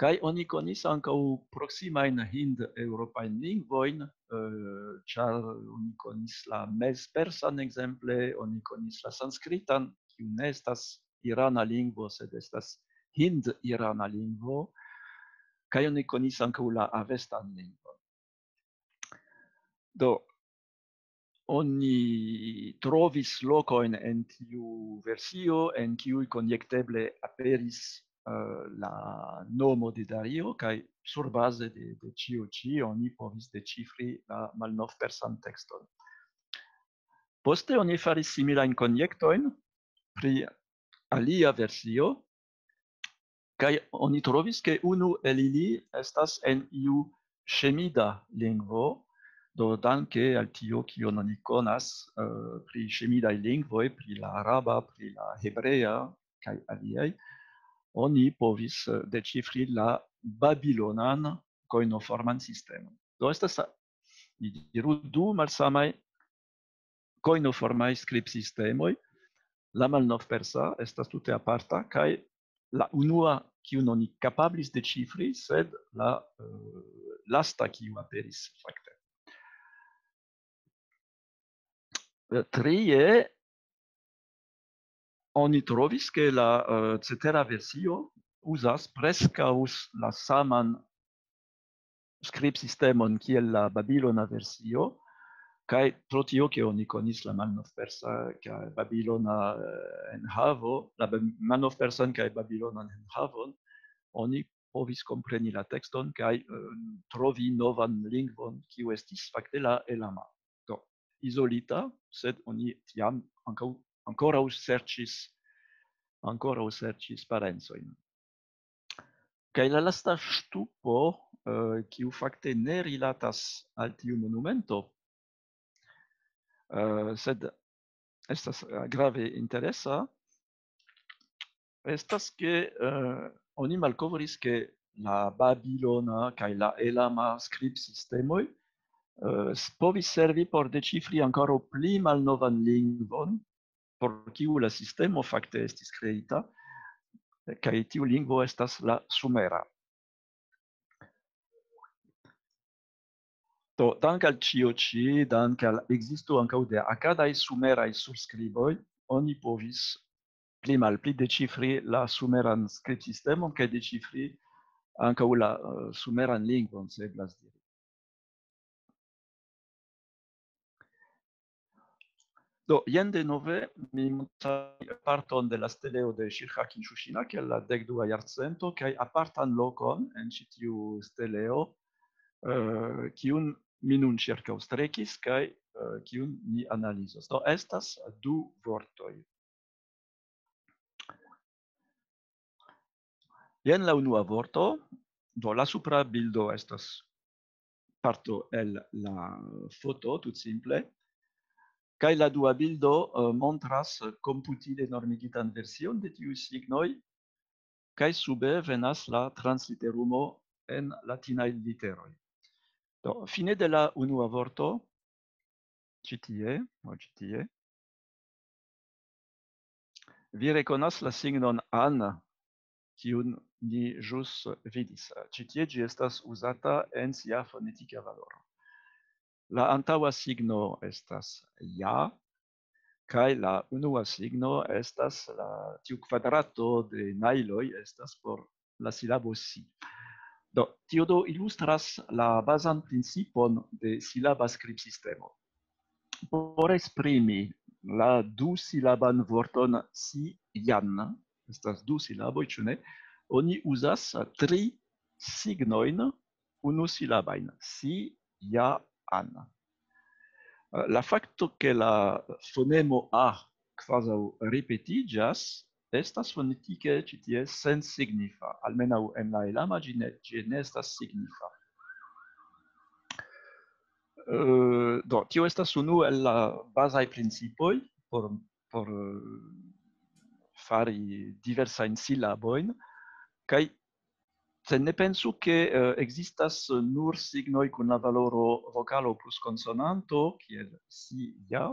Kaj oni konis ankaŭ proksimajn hind-eŭropajn lingvojn, eh, ĉar oni konis la mezpersan ekzemple, oni konis la sanskritan, kiu ne estas irana lingvo, sed estas hind-irana lingvo, kaj oni konis ankaŭ la avestan lingvon. Do, oni trovis lokojn en tiu versio, en kiuj konjekteble aperis, eh, la nomo de Dario, kaj surbaze de, de ĉio ĉi oni povis deĉifri la malnovpersan tekston. Poste oni faris similajn konjektojn pri alia versio, kaj oni trovis, ke unu el ili estas en iu ŝemida lingvo, do danke al tio, kion oni konas, eh, pri ŝemidaj lingvoj, pri la araba, pri la hebrea, kaj aliaj, oni povis, eh, deĉifri la babilonan kojnoforman sistemon. Do estas, ni diru, du malsamaj kojnoformaj skribsistemoj. La malnovpersa estas tute aparta, kaj la unua, kiun oni kapablis deĉifri, sed la, eh, lasta, kiu aperis fakte. Eh, trie, oni trovis, ke la, eh, cetera versio uzas preskaŭ s-, la saman skribsistemon kiel la babilona versio, kaj pro tio, ke oni konis la malnovpersa kaj babilona, eh, enhavo, la ba-, malnovpersan kaj babilonan enhavon, oni povis kompreni la tekston kaj, eh, trovi novan lingvon, kiu estis fakte la elama. Do, izolita, sed oni tiam ankaŭ, ankoraŭ serĉis, ankoraŭ serĉis parencojn. Kaj la lasta ŝtupo, eh, kiu fakte ne rilatas al tiu monumento, eh, sed estas, eh, grave interesa, estas, ke, eh, oni malkovris, ke la babilona kaj la elama skribsistemoj, eh, s-, povis servi por deĉifri ankoraŭ pli malnovan lingvon, por kiu la sistemo fakte estis kreita, kaj tiu lingvo estas la sumera. Do, dank al ĉio ĉi, dank al ekzisto ankaŭ de akadaj sumeraj surskriboj, oni povis pli malpli deĉifri la sumeran skribsistemon kaj deĉifri ankaŭ la, eh, sumeran lingvon, se eblas diri. Do, jen denove mi montras parton de la steleo de Shirha Kinshushina, kiel la dekdua jarcento, kaj apartan lokon en ĉi tiu steleo, eh, kiun mi nun ĉirkaŭstrekis kaj, eh, kiun ni analizos. Do, estas du vortoj. Jen la unua vorto. Do, la supra bildo estas parto el la foto, tut simple. Kaj la dua bildo, eh, montras komputile normigitan version de tiuj signoj, kaj sube venas la transliterumo en latinaj literoj. Do, fine de la unua vorto, ĉi tie, o, ĉi tie, vi rekonas la signon an, kiun ni ĵus vidis. Ĉi tie ĝi estas uzata en sia fonetika valoro. La antaŭa signo estas ja, kaj la unua signo estas la, tiu kvadrato de najloj estas por la silabo si. Do, tio do ilustras la bazan principon de silaba skribsistemo. Por esprimi la dusilaban vorton si jan, estas du silaboj, ĉu ne? Oni uzas tri signojn unusilabajn, si, ja, an. La fakto, ke la fonemo a kvazaŭ ripetiĝas, estas fonetike ĉi tie sensignifa, almenaŭ en la elama ĝi ne, ĝi ne estas signifa. Eh, do, tio estas unu el la bazaj principoj por, por, eh, fari diversajn silabojn, kaj Sed ne pensu, ke, eh, ekzistas nur signoj kun la valoro vokalo plus konsonanto, kiel si, ja,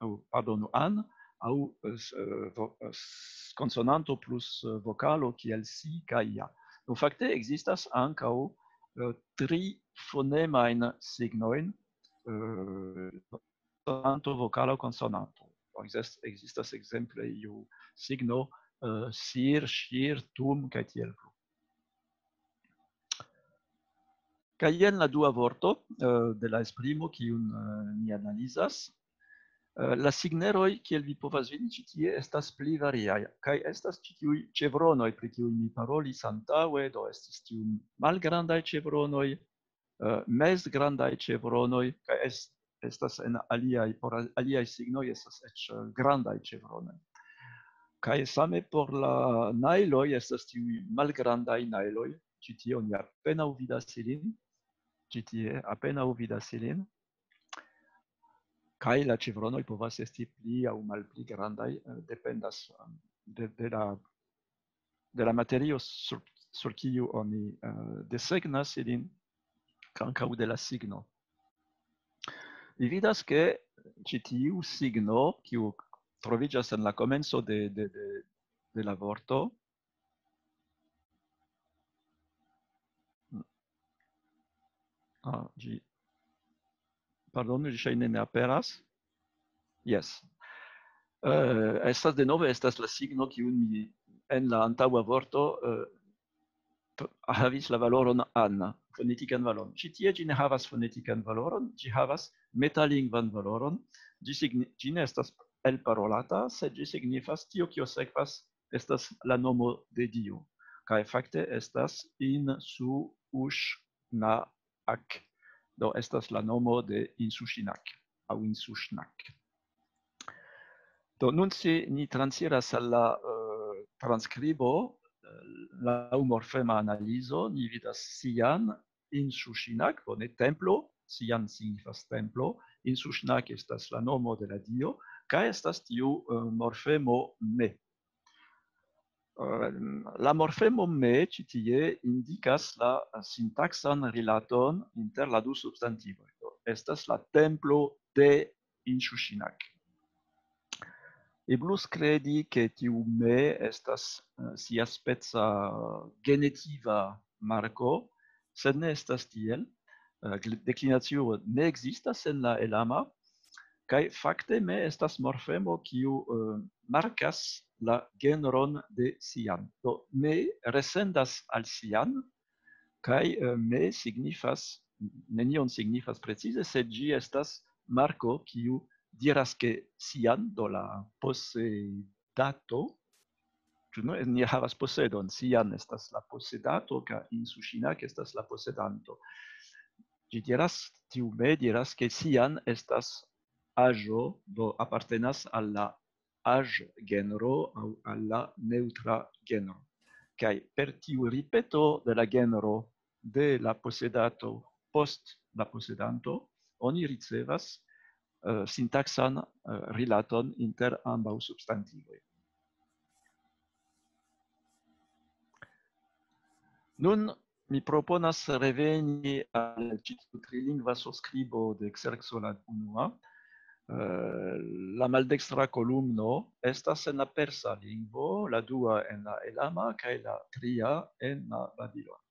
aŭ, pardonu, an, aŭ, eh, s-, eh, vo-, eh, s-, konsonanto plus, eh, vokalo, kiel si kaj ja. Do fakte ekzistas ankaŭ, eh, tri fonemajn signojn, eh, konsonanto, vokalo, konsonanto. Ekzist-, ekzistas ekzemple iu signo, eh, sir, ŝir, tum, kaj tiel plu. Kaj jen la dua vorto, eh, de la esprimo, kiun, eh, ni analizas. Eh, la signeroj, kiel vi povas vidi ĉi tie, estas pli variaj. Kaj estas ĉi tiuj ĉevronoj, pri kiuj mi parolis antaŭe, do estis tiuj malgrandaj ĉevronoj, eh, mezgrandaj ĉevronoj, kaj es-, estas en aliaj, por al-, aliaj signoj estas eĉ, eh, grandaj ĉevronoj. Kaj same por la najloj estas tiuj malgrandaj najloj, ĉi tie oni apenaŭ vidas ilin, ĉi tie apenaŭ vidas ilin, kaj la ĉevronoj povas esti pli aŭ malpli grandaj, eh, dependas, eh, de, de la, de la materio sur, sur kiu oni, eh, desegnas ilin, ankaŭ de la signo. Vi vidas, ke ĉi tiu signo, kiu troviĝas en la komenco de, de, de, de la vorto, ah, ĝi, pardonu, ĝi ŝajne ne aperas. Jes. Eh, estas denove, estas la signo, kiun mi en la antaŭa vorto, eh, to-, havis la valoron an, fonetikan valoron. Ĉi tie ĝi ne havas fonetikan valoron, ĝi havas metalingvan valoron. Ĝi signi-, ĝi ne estas elparolata, sed ĝi signifas tio, kio sekvas, estas la nomo de Dio. Kaj fakte estas Insu Ush Na Ak. Do estas la nomo de Insuŝinak aŭ Insuŝnak. Do nun, se ni transiras al la, eh, transskribo, eh, laŭ morfema analizo, ni vidas sian, Insuŝinak, bone, templo, sian signifas templo, Insuŝnak estas la nomo de la dio, kaj estas tiu, eh, morfemo me. Eh, la morfemo me ĉi tie indikas la sintaksan rilaton inter la du substantivoj. Do, estas la templo de Insuŝinak. Eblus kredi, ke tiu me estas, eh, siaspeca genetiva marko, sed ne estas tiel. Eh, gl-, deklinacio ne ekzistas en la elama, kaj fakte me estas morfemo, kiu, eh, markas la genron de sian. Do, me resendas al sian, kaj, eh, me signifas, nenion signifas precize, sed ĝi estas marko, kiu diras, ke sian, do la posedato, ĉu ne, ni havas posedon, sian estas la posedato, kaj Insuŝinak estas la posedanto. Ĝi diras, tiu me diras, ke sian estas aĵo, do apartenas al la aĵ-genro aŭ al la neŭtra genro. Kaj per tiu ripeto de la genro de la posedato post la posedanto, oni ricevas, eh, sintaksan, eh, rilaton inter ambaŭ substantivoj. Nun mi proponas reveni al ĉi tiu trilingva surskribo de Xerxo la unua. Eh, la maldekstra kolumno estas en la persa lingvo, la dua en la elama kaj la tria en la babilona.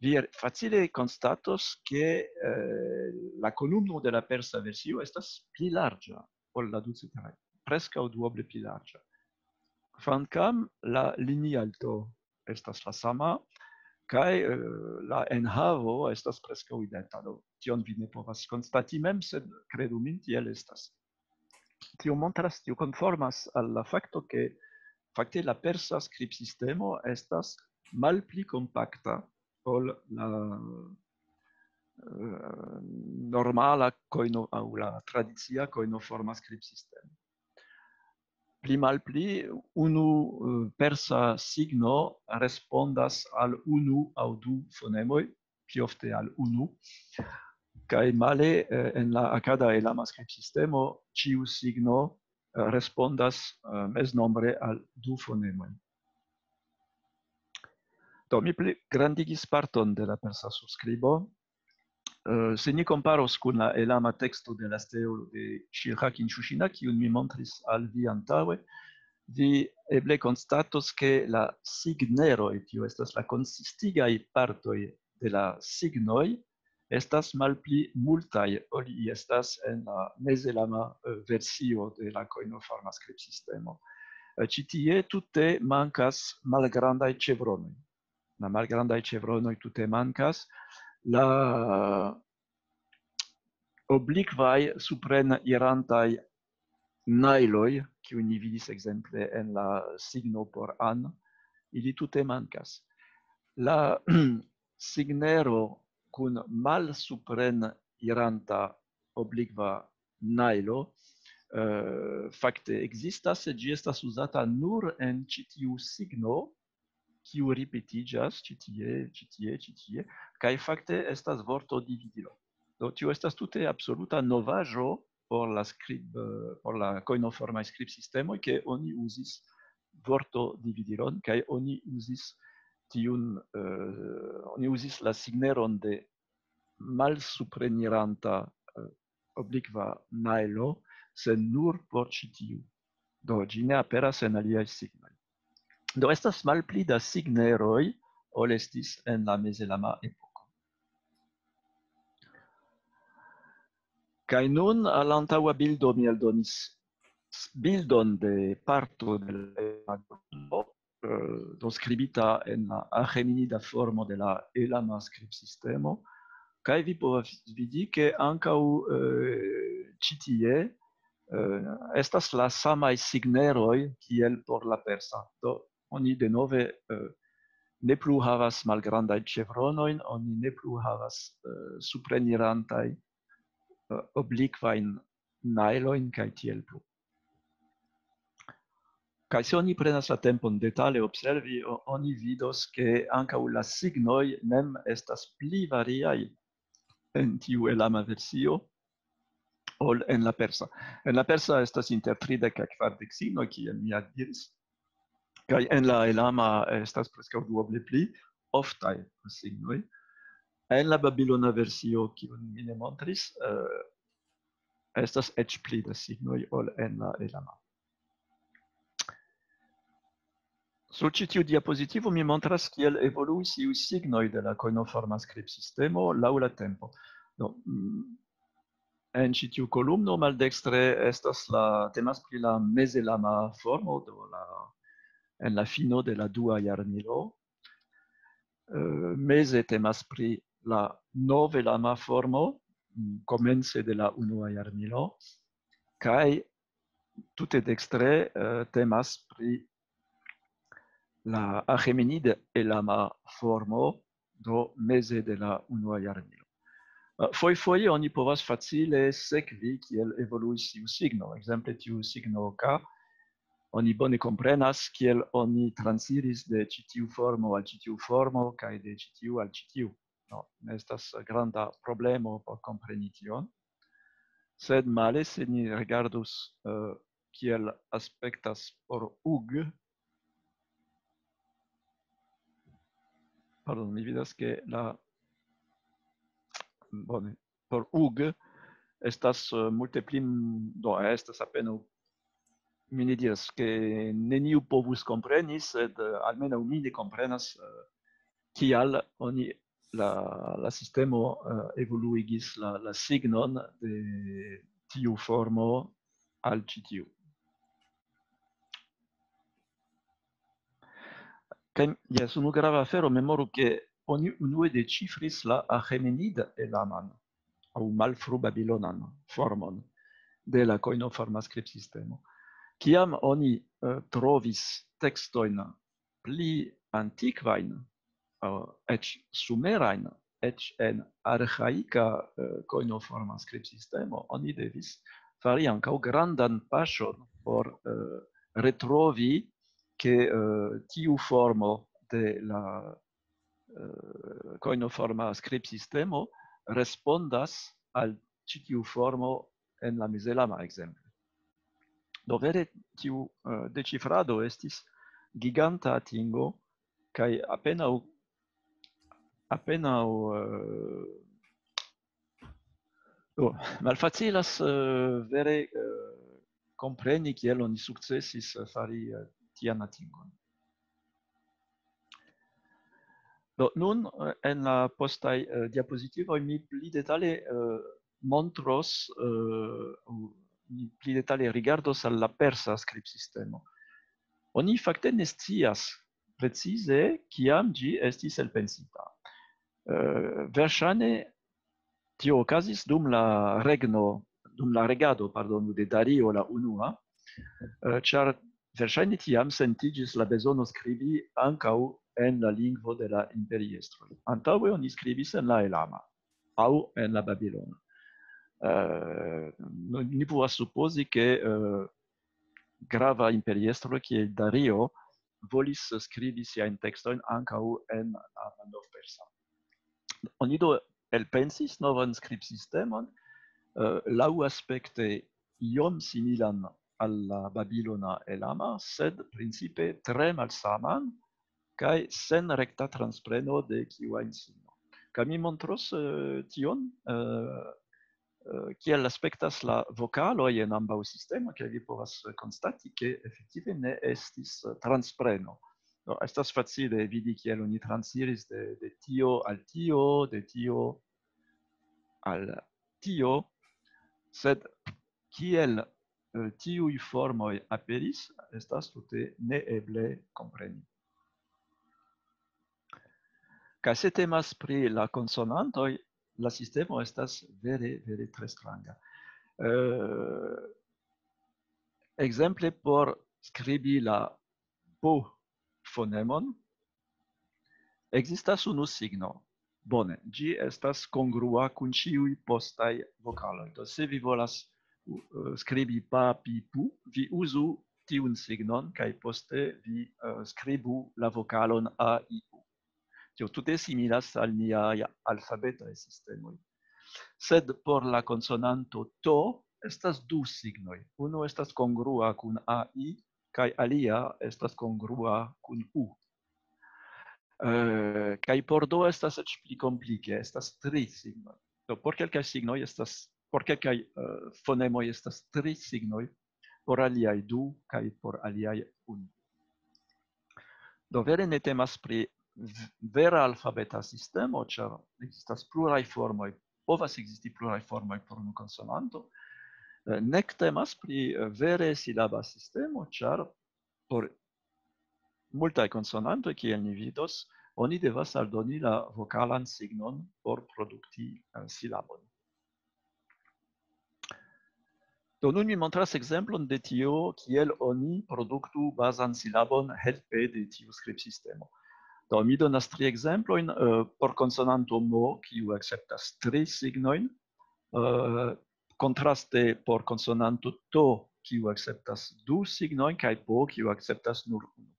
Vi facile konstatos, ke, eh, la kolumno de la persa versio estas pli larĝa ol la duceteraj, preskaŭ duoble pli larĝa. Kvankam la linialto estas la sama, kaj, eh, la enhavo estas preskaŭ identa. Do, tion vi ne povas konstati mem, sed kredu min, tiel estas. Tio montras, tio konformas al la fakto, ke fakte la persa skribsistemo estas malpli kompakta ol la, eh, normala kojno-, aŭ la tradicia kojnoforma skribsistemo. Pli malpli unu, eh, persa signo respondas al unu aŭ du fonemoj, pli ofte al unu. Kaj male, eh, en la akada elama skribsistemo, ĉiu signo, eh, respondas, eh, meznombre al du fonemoj. Do, mi pli grandigis parton de la persa surskribo. Eh, se ni komparos kun la elama teksto de la stelo de Shirhakin Shushina, kiun mi montris al vi antaŭe, vi eble konstatos, ke la signeroj, tio estas la konsistigaj partoj de la signoj, estas malpli multaj, ol ili estas en la mezelama, eh, versio de la koinoforma skribsistemo. Eh, ĉi tie tute mankas malgrandaj ĉevronoj. La malgrandaj ĉevronoj tute mankas. La oblikvaj suprenirantaj najloj, kiujn ni vidis ekzemple en la signo por an, ili tute mankas. La signero kun malsupreniranta oblikva najlo, eh, fakte ekzistas, sed ĝi estas uzata nur en ĉi tiu signo, kiu ripetiĝas ĉi tie, ĉi tie, ĉi tie, kaj fakte estas vorto dividilo. Do, tio estas tute absoluta novaĵo por la skrib-, eh, por la koinoformaj skribsistemoj, ke oni uzis vorto dividilon, kaj oni uzis tiun, eh, oni uzis la signeron de malsupreniranta, eh, oblikva najlo, sed nur por ĉi tiu. Do, ĝi ne aperas en aliaj signoj. Do, estas malpli da signeroj, ol estis en la mezelama epoko. Kaj nun, al la antaŭa bildo, mi aldonis bildon de parto de la elama grundo, eh, do skribita en la aĥemenida formo de la elama skribsistemo. Kaj vi povas vidi, ke ankaŭ, eh, ĉi tie, eh, estas la samaj signeroj kiel por la persa. Do, oni denove, eh, ne plu havas malgrandajn ĉevronojn, oni ne plu havas, eh, suprenirantaj, eh, oblikvajn najlojn kaj tiel plu. Kaj se oni prenas la tempon detale observi, o-, oni vidos, ke ankaŭ la signoj mem estas pli variaj en tiu elama versio ol en la persa. En la persa estas inter tridek kaj kvardek signoj, kiel mi ja diris, kaj en la elama estas preskaŭ duoble pli oftaj signoj. En la babilona versio, kiun mi ne montris, eh, estas eĉ pli da signoj ol en la elama. Sur ĉi tiu diapozitivo mi montras, kiel evoluis iuj signoj de la koinoforma skribsistemo laŭ la tempo. Do, mm, en ĉi tiu kolumno maldekstre estas la, temas pri la mezelama formo, do la, en la fino de la dua jarmilo. Eh, meze temas pri la novelama formo, mm, komence de la unua jarmilo, kaj tute dekstre, eh, temas pri la aĥemenid-elama formo, do meze de la unua jarmilo. Eh, fojfoje oni povas facile sekvi, kiel evoluis tiu signo. Ekzemple, tiu signo K, oni bone komprenas, kiel oni transiris de ĉi tiu formo al ĉi tiu formo, kaj de ĉi tiu al ĉi tiu. No, estas granda problemo por kompreni tion. Sed male, se ni rigardus, eh, kiel aspektas por ug. Pardon, mi vidas, ke la, bone, por ug estas, eh, multe pli m-, do, estas apenaŭ, mi ne diras, ke neniu povus kompreni, sed, eh, almenaŭ mi ne komprenas, eh, kial oni, la, la sistemo, eh, evoluigis la, la signon de tiu formo al ĉi tiu. Kaj, jes, unu grava afero, memoru, ke oni unue deĉifris la aĥemenid-elaman, aŭ malfrubabilonan formon de la koinoforma skribsistemo. Kiam oni, eh, trovis tekstojn pli antikvajn, eh, eĉ sumerajn, eĉ en arĥaika, eh, koinoforma skribsistemo, oni devis fari ankaŭ grandan paŝon por, eh, retrovi, ke, eh, tiu formo de la, eh, koinoforma skribsistemo respondas al ĉi tiu formo en la mezelama, ekzemple. Do vere tiu, eh, deĉifrado estis giganta atingo, kaj apenaŭ apenaŭ, eh, do, malfacilas, eh, vere, eh, kompreni, kiel oni sukcesis, eh, fari, eh, tian atingon. Do, nun, eh, en la postaj, eh, diapozitivoj mi pli detale, eh, montros, eh, mi pli detale rigardos al la persa skribsistemo. Oni fakte ne scias precize, kiam ĝi estis elpensita. Eh, verŝajne tio okazis dum la regno, dum la regado, pardonu, de Dario la unua, eh, ĉar verŝajne tiam sentiĝis la bezono skribi ankaŭ en la lingvo de la imperiestroj. Antaŭe oni skribis en la elama aŭ en la babilona. Eh, no, ni povas supozi, ke, eh, grava imperiestro kiel Dario volis skribi siajn tekstojn ankaŭ en la malnovpersa. Oni do elpensis novan skribsistemon, eh, laŭaspekte iom similan al la babilona elama, sed principe tre malsaman kaj sen rekta transpreno de kiu ajn signo. Kaj mi montros, eh, tion, eh, eh, kiel aspektas la vokaloj en ambaŭ sistemoj, kaj vi povas konstati, ke efektive ne estis, eh, transpreno. Do, estas facile vidi, kiel oni transiris de, de tio al tio, de tio al tio, sed kiel, eh, tiuj formoj aperis, estas tute neeble kompreni. Kaj se temas pri la konsonantoj, la sistemo estas vere, vere tre stranga. Eh, ekzemple, por skribi la P fonemon, ekzistas unu signo. Bone, ĝi estas kongrua kun ĉiuj postaj vokaloj. Do, se vi volas, eh, skribi pa, pi, pu, vi uzu tiun signon, kaj poste vi, eh, skribu la vokalon a, i, u. Tio tute similas al niaj alfabetaj sistemoj. Sed por la konsonanto to estas du signoj. Unu estas kongrua kun a, i, kaj alia estas kongrua kun u. Eh, kaj por do estas eĉ pli komplike, estas tri signoj. Do, por kelkaj signoj estas, por kelkaj, eh, fonemoj estas tri signoj, por aliaj du, kaj por aliaj unu. Do, vere ne temas pri v-, vera alfabeta sistemo, ĉar ekzistas pluraj formoj, povas ekzisti pluraj formoj por unu konsonanto, eh, nek temas pri, eh, vere silaba sistemo, ĉar por multaj konsonantoj, kiel ni vidos, oni devas aldoni la vokalan signon por produkti, eh, silabon. Do, nun mi montras ekzemplon de tio, kiel oni produktu bazan silabon helpe de tiu skribsistemo. Do, mi donas tri ekzemplojn, eh, por konsonanto mo, kiu akceptas tri signojn, eh, kontraste por konsonanto to, kiu akceptas du signojn, kaj po, kiu akceptas nur unu.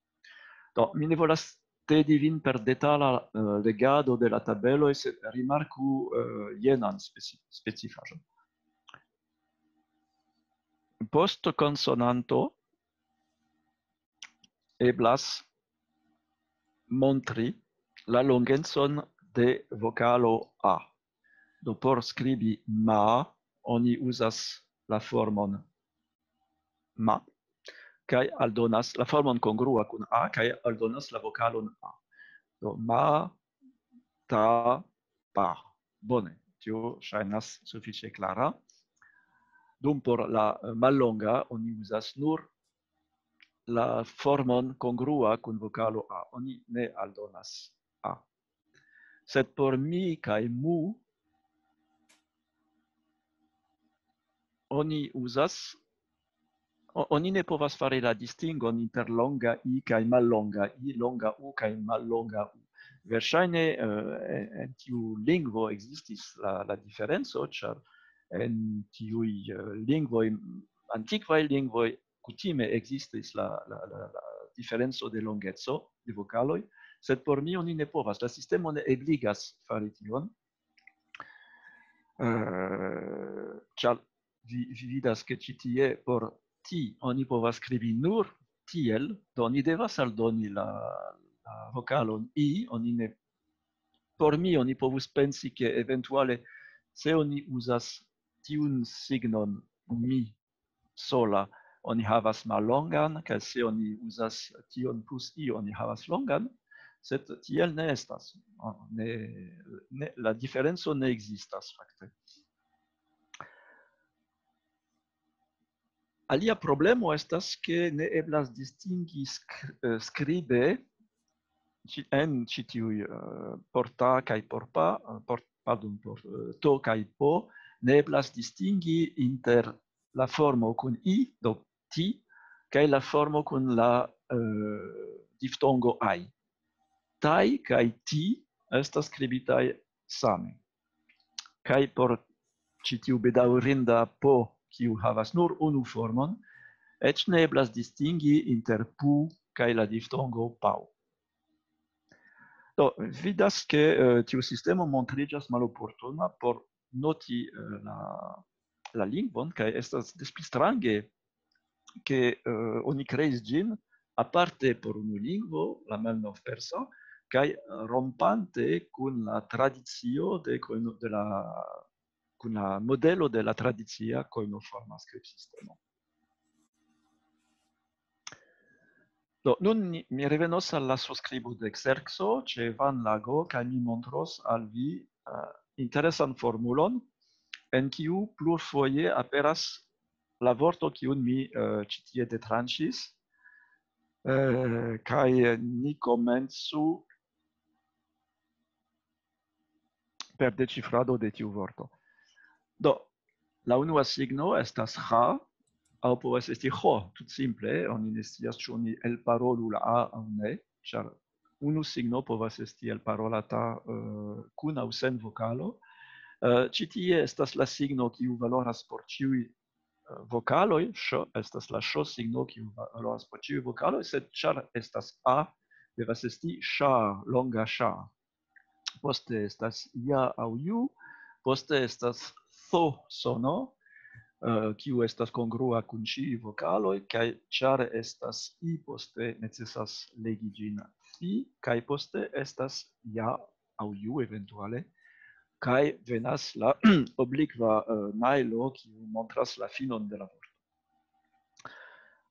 Do, mi ne volas tedi vin per detala, eh, legado de la tabeloj, sed rimarku, eh, jenan speci-, specifaĵon. Post konsonanto eblas montri la longecon de vokalo a. Do, por skribi ma, oni uzas la formon ma, kaj aldonas la formon kongrua kun a, kaj aldonas la vokalon a. Do, ma, ta, pa. Bone, tio ŝajnas sufiĉe klara. Dum por la, eh, mallonga oni uzas nur la formon kongrua kun vokalo a. Oni ne aldonas a. Sed por mi kaj mu oni uzas, o-, oni ne povas fari la distingon inter longa i kaj mallonga i, longa u kaj mallonga u. Verŝajne, eh, en, en tiu lingvo ekzistis la, la diferenco, ĉar en tiuj, eh, lingvoj, antikvaj lingvoj, kutime ekzistis la, la, la, la diferenco de longeco de vokaloj, sed por mi oni ne povas. La sistemo ne ebligas fari tion. Eh, ĉar vi, vi vidas, ke ĉi tie por ti oni povas skribi nur tiel, do oni devas aldoni la, la vokalon i, oni ne por mi oni povus pensi, ke eventuale, se oni uzas tiun signon mi sola, oni havas mallongan, kaj se oni uzas tion plus i, oni havas longan, sed tiel ne estas. Ne, ne, la diferenco ne ekzistas, fakte. Alia problemo estas, ke ne eblas distingi sk-, eh, skribe ĉi, en ĉi tiuj, eh, por ta kaj por pa, eh, por, pardon, por, eh, to kaj po, ne eblas distingi inter la formo kun i, do ti, kaj la formo kun la, eh, diftongo ai. Tai kaj ti estas skribitaj same. Kaj por ĉi tiu bedaŭrinda po, kiu havas nur unu formon, eĉ ne eblas distingi inter pu kaj la diftongo pau. Do, vidas, ke, eh, tiu sistemo montriĝas maloportuna por noti, eh, la, la lingvon, kaj estas des pli strange, ke, eh, oni kreis ĝin aparte por unu lingvo, la malnovpersa, kaj, eh, rompante kun la tradicio de koino-, de la, kun la modelo de la tradicia koinoforma skribsistemo. Do, nun ni, mi revenos al la surskribo de Xerxo ĉe Van Lago, kaj mi montros al vi, eh, interesan formulon, en kiu plurfoje aperas la vorto, kiun mi, eh, ĉi tie detranĉis, eh, kaj ni komencu per deĉifrado de tiu vorto. Do, la unua signo estas ha, aŭ povas esti ho, tut simple, oni ne scias, ĉu oni elparolu la a aŭ ne, ĉar unu signo povas esti elparolata, eh, kun aŭ sen vokalo. Eh, ĉi tie estas la signo, kiu valoras por ĉiuj, eh, vokaloj, ŝ estas la ŝ signo, kiu va-, valoras por ĉiuj vokaloj, sed ĉar estas a, devas esti ŝa, longa ŝa. Poste estas ja aŭ ju, poste estas tho sono, eh, kiu estas kongrua kun ĉiuj vokaloj, kaj ĉar estas i, poste necesas legi ĝin fi, kaj poste estas ja aŭ ju eventuale, kaj venas la oblikva, eh, najlo, kiu montras la finon de la vorto.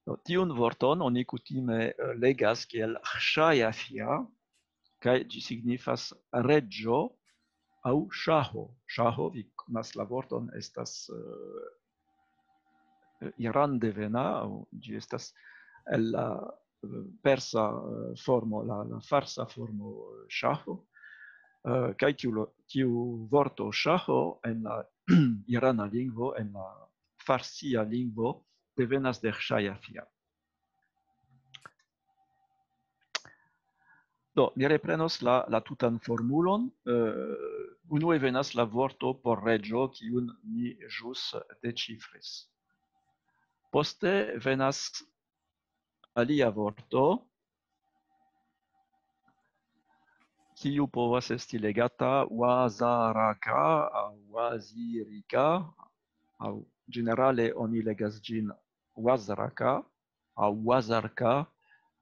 Do, tiun vorton oni kutime, eh, legas kiel ŝajafia, kaj ĝi signifas reĝo aŭ ŝaho. Ŝaho, vi konas la vorton, estas, eh, iran-devena, aŭ ĝi estas el la, eh, persa, eh, formo, la, la farsa formo, eh, ŝaho, eh, kaj tiu lo-, tiu vorto ŝaho en la irana lingvo, en la farsia lingvo, devenas de ŝajafia. Do, mi reprenos la, la tutan formulon. Eh, unue venas la vorto por reĝo, kiun ni ĵus deĉifris. Poste venas alia vorto, kiu povas esti legata wazaraka aŭ wazirika, aŭ ĝenerale oni legas ĝin wazraka aŭ wazarka,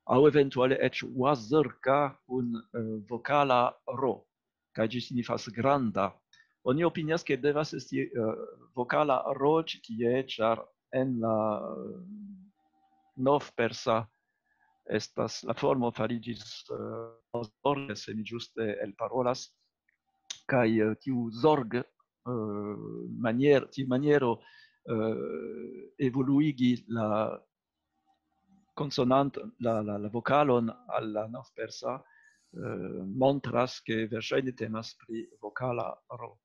aŭ eventuale eĉ wazrka kun, eh, vokala ro, kaj ĝi signifas granda. Oni opinias, ke devas esti, eh, vokala ro ĉi tie, ĉar en la, eh, novpersa estas, la formo fariĝis, eh, zorge, se mi ĝuste elparolas, kaj, eh, tiu zorg, eh, manier-, tiu maniero, eh, evoluigi la konsonant-, la, la, la vokalon al la novpersa, eh, montras, ke verŝajne temas pri vokala ro.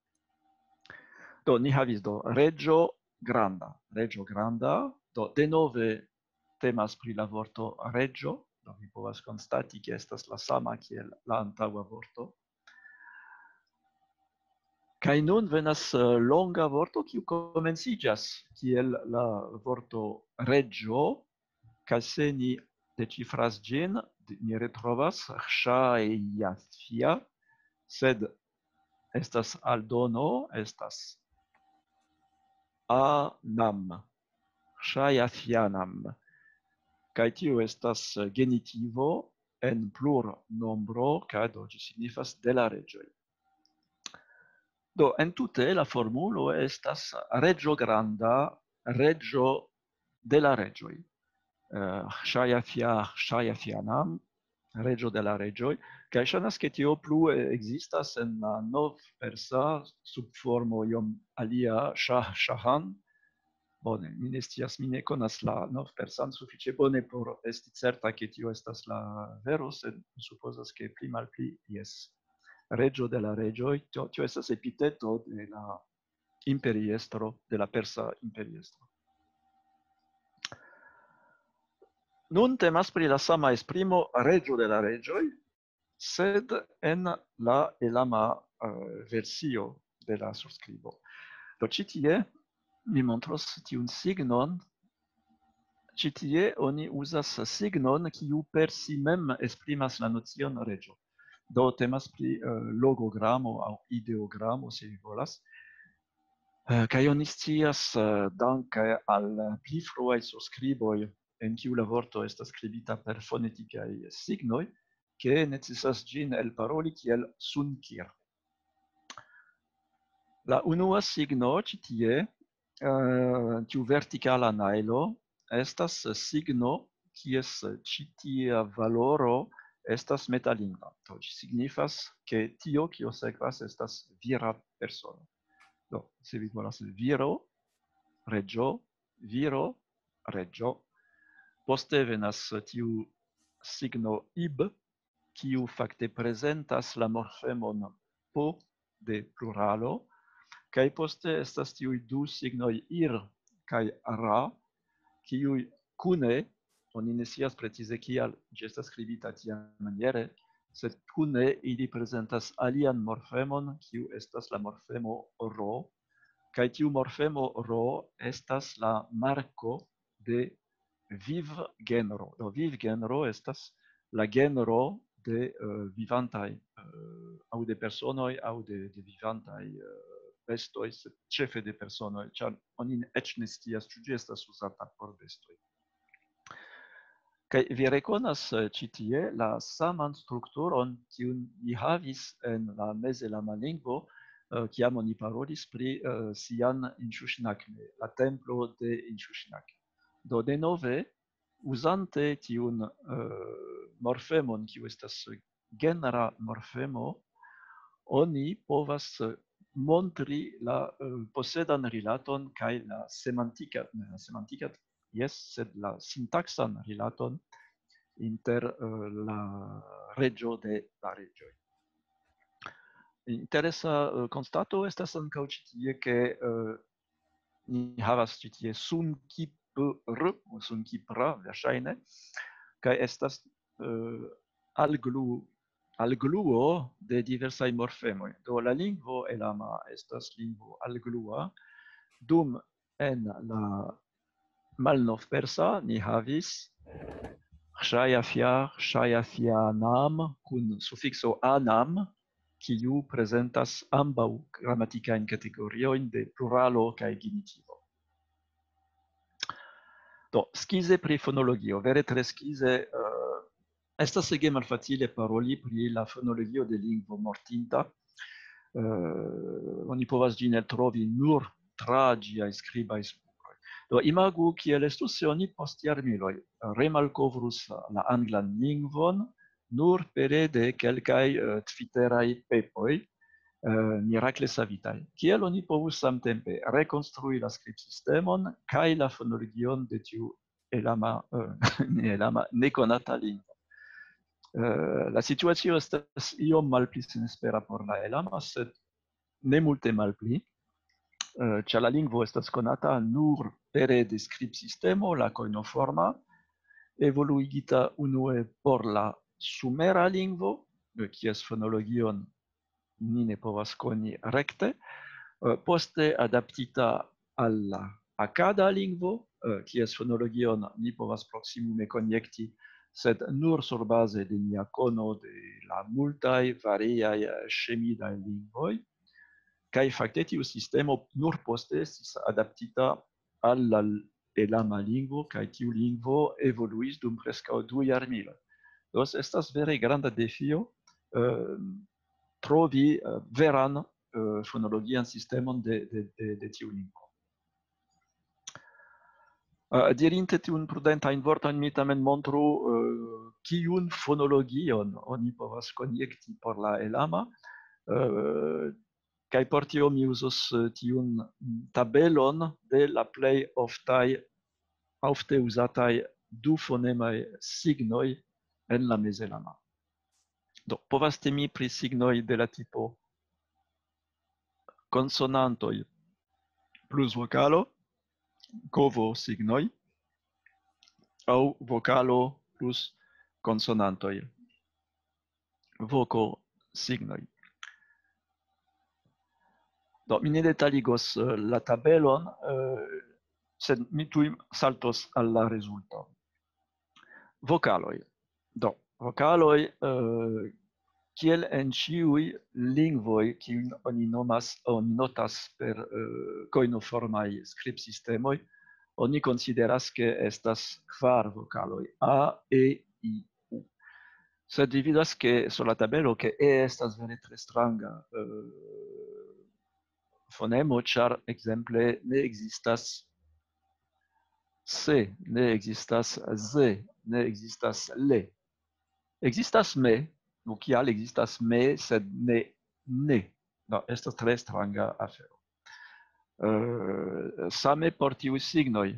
Do, ni havis do reĝo granda, reĝo granda, do denove temas pri la vorto reĝo, do vi povas konstati, ke estas la sama kiel la antaŭa vorto. Kaj nun venas, eh, longa vorto, kiu komenciĝas kiel la vorto reĝo, kaj se ni deĉifras ĝin, ni retrovas ŝajafia, sed estas aldono, estas anam, ŝajafianam. Kaj tio estas genitivo en plurnombro, kaj do ĝi signifas de la reĝoj. Do, entute la formulo estas reĝo granda, reĝo de la reĝoj. Eh, Ŝaja Fia, Ŝaja Fianam, reĝo de la reĝoj. Kaj ŝajnas, ke tio plu, eh, ekzistas en la novpersa subformo iom alia, Ŝah, Ŝahan. Bone, mi ne scias, mi ne konas la novpersan sufiĉe bone por esti certa, ke tio estas la vero, sed mi supozas, ke pli malpli jes. Reĝo de la reĝoj, tio, tio estas epiteto de la imperiestro, de la persa imperiestro. Nun temas pri la sama esprimo reĝo de la reĝoj, sed en la elama, eh, versio de la surskribo. Do ĉi tie mi montros tiun signon. Ĉi tie oni uzas signon, kiu per si mem esprimas la nocion reĝo. Do temas pri, eh, logogramo aŭ ideogramo, se vi volas. Eh, kaj oni scias, eh, danke al pli fruaj surskriboj, en kiu la vorto estas skribita per fonetikaj signoj, ke necesas ĝin elparoli kiel sunkir. La unua signo ĉi tie, eh, tiu vertikala najlo, estas signo, kies ĉi tia valoro estas metalingva. Do ĝi signifas, ke tio, kio sekvas, estas vira persono. Do, se vi volas viro, reĝo, viro, reĝo. Poste venas tiu signo ib, kiu fakte prezentas la morfemon po de pluralo, kaj poste estas tiuj du signoj ir kaj ra, kiuj kune, oni ne scias precize kial ĝi estas skribita tiamaniere, sed kune ili prezentas alian morfemon, kiu estas la morfemo ro, kaj tiu morfemo ro estas la marko de vivgenro. Do vivgenro estas la genro de, eh, vivantaj, eh, aŭ de personoj, aŭ de, de vivantaj, eh, bestoj, sed ĉefe de personoj, ĉar oni eĉ ne scias, ĉu ĝi estas uzata por bestoj. Kaj vi rekonas, eh, ĉi tie la saman strukturon, kiun ni havis en la mezelama lingvo, eh, kiam oni parolis pri, eh, Sian Inshushnakne, la templo de Inshushnakne. Do denove, uzante tiun, eh, morfemon, kiu estas genera morfemo, oni povas, eh, montri la, eh, posedan rilaton kaj la semantika, ne la semantika, jes, sed la sintaksan rilaton inter, eh, la reĝo de la reĝoj. Interesa, eh, konstato estas ankaŭ ĉi tie, ke, eh, ni havas ĉi tie sunkipr, sunkipra, verŝajne, kaj estas, eh, alglu-, algluo de diversaj morfemoj. Do la lingvo elama estas lingvo alglua, dum en la malnovpersa ni havis ŝajafia, ŝajafianam kun sufikso anam, kiu prezentas ambaŭ gramatikajn kategoriojn de pluralo kaj genitivo. Do, skize pri fonologio, vere tre skize, eh, estas ege malfacile paroli pri la fonologio de lingvo mortinta. Eh, oni povas ĝin eltrovi nur tra ĝiaj skribaj spuroj. Do, imagu, kiel estus, se oni post jarmiloj remalkovrus la anglan lingvon nur pere de kelkaj, eh, twitteraj pepoj, eh, mirakle savitaj. Kiel oni povus samtempe rekonstrui la skribsistemon kaj la fonologion de tiu elama, eh, ne elama, nekonata lingvo? Eh, la situacio estas iom malpli senespera por la elama, sed ne multe malpli, eh, ĉar la lingvo estas konata nur pere de skribsistemo, la kojnoforma, evoluigita unue por la sumera lingvo, eh, kies fonologion ni ne povas koni rekte, eh, poste adaptita al la akada lingvo, eh, kies fonologion ni povas proksimume konjekti, sed nur surbaze de nia kono de la multaj variaj, eh, ŝemidaj lingvoj. Kaj fakte tiu sistemo nur poste estis adaptita al la elama lingvo, kaj tiu lingvo evoluis dum preskaŭ du jarmiloj. Do estas vere granda defio, eh, trovi, eh, veran eh, fonologian sistemon de, de, de, de tiu lingvo. Eh, dirinte tiun prudentajn vortojn, mi tamen montru, eh, kiun fonologion oni povas konjekti por la elama, eh, kaj por tio mi uzos, eh, tiun tabelon de la plej oftaj, ofte uzataj dufonemaj signoj en la mezelama. Do, povas temi pri signoj de la tipo konsonantoj plus vokalo, kovo signoj, aŭ vokalo plus konsonantoj, voko signoj. Do, mi ne detaligos, eh, la tabelon, eh, sed mi tuj saltos al la rezulto. Vokaloj. Do, vokaloj, eh, kiel en ĉiuj lingvoj, kiujn oni nomas, oni notas per, eh, kojnoformaj skribsistemoj, oni konsideras, ke estas kvar vokaloj: A, E, I, U. Sed vi vidas, ke sur la tabelo, ke E estas vere tre stranga, eh, fonemo, ĉar, ekzemple, ne ekzistas se, ne ekzistas ze, ne ekzistas le. Ekzistas me, nu, kial ekzistas me, sed ne ne? Do, estas tre stranga afero. Eh, same por tiuj signoj.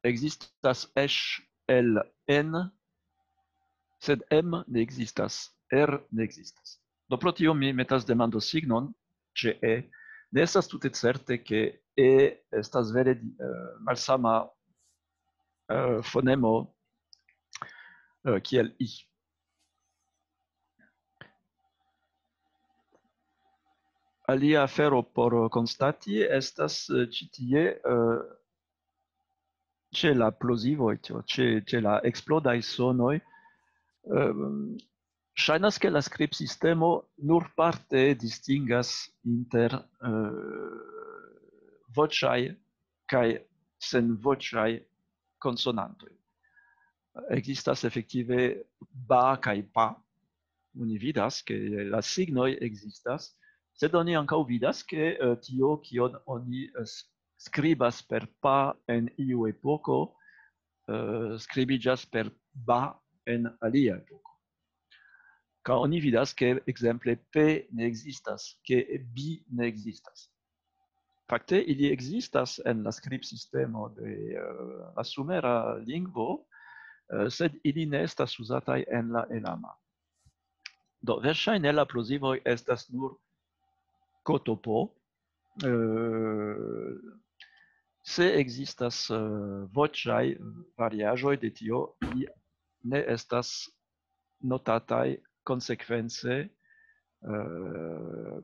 Ekzistas eŝ el en, sed em ne ekzistas, er ne ekzistas. Do, pro tio mi metas demandosignon ĉe E. Ne estas tute certe, ke E estas vere, eh, malsama, eh, fonemo, eh, kiel I. Alia afero por konstati estas, eh, ĉi tie, eh, ĉe la plozivoj, ĉe, ĉe, ĉe la eksplodaj sonoj, ehm, ŝajnas, ke la skribsistemo nur parte distingas inter, eh, voĉaj kaj senvoĉaj konsonantoj. Ekzistas efektive ba kaj pa. Oni vidas, ke la signoj ekzistas, sed oni ankaŭ vidas, ke, eh, tio, kion oni, eh, s-, skribas per pa en iu epoko, eh, skribiĝas per ba en alia epoko. Kaj oni vidas, ke ekzemple pe ne ekzistas, ke bi ne ekzistas. Fakte, ili ekzistas en la skribsistemo de, eh, la sumera lingvo, eh, sed ili ne estas uzataj en la elama. Do, verŝajne la plozivoj estas nur kotopo, eh, se ekzistas, eh, voĉaj variaĵoj de tio, ili ne estas notataj konsekvence, eh,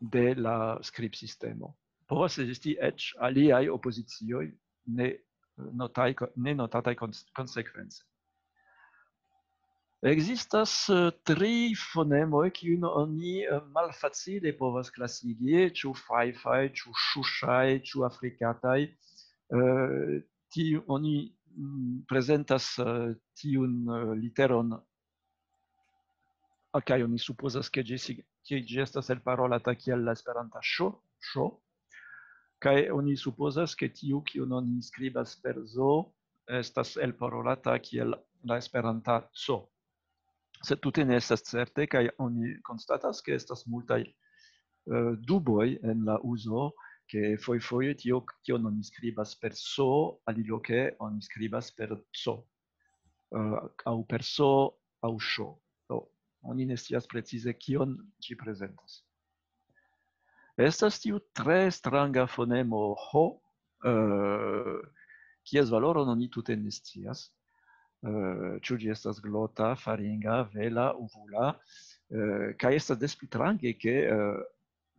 de la skribsistemo. Povas ekzisti eĉ aliaj opozicioj ne notaj-, ne notataj kons-, konsekvence. Ekzistas, eh, tri fonemoj, kiujn oni, eh, malfacile povas klasigi, ĉu fajfaj, ĉu ŝuŝaj, ĉu afrikataj. Eh, tiu, oni, mm, prezentas, eh, tiun, eh, literon, ah, kaj oni supozas, ke ĝi sig-, ke ĝi estas elparolata kiel la esperanta ŝo, ŝo, kaj oni supozas, ke tiu, kiun oni skribas per zo, estas elparolata kiel la esperanta co. Sed tute ne estas certe, kaj oni konstatas, ke estas multaj, eh, duboj en la uzo, ke fojfoje tio, kion oni skribas per so, aliloke oni skribas per co, eh, aŭ per so, aŭ ŝo. Do, oni ne scias precize, kion ĝi prezentas. Estas tiu tre stranga fonemo ho, eh, kies valoron oni tute ne scias. Eh, ĉu ĝi estas glota, faringa, vela, uvula, eh, kaj estas des pli strange, ke, eh,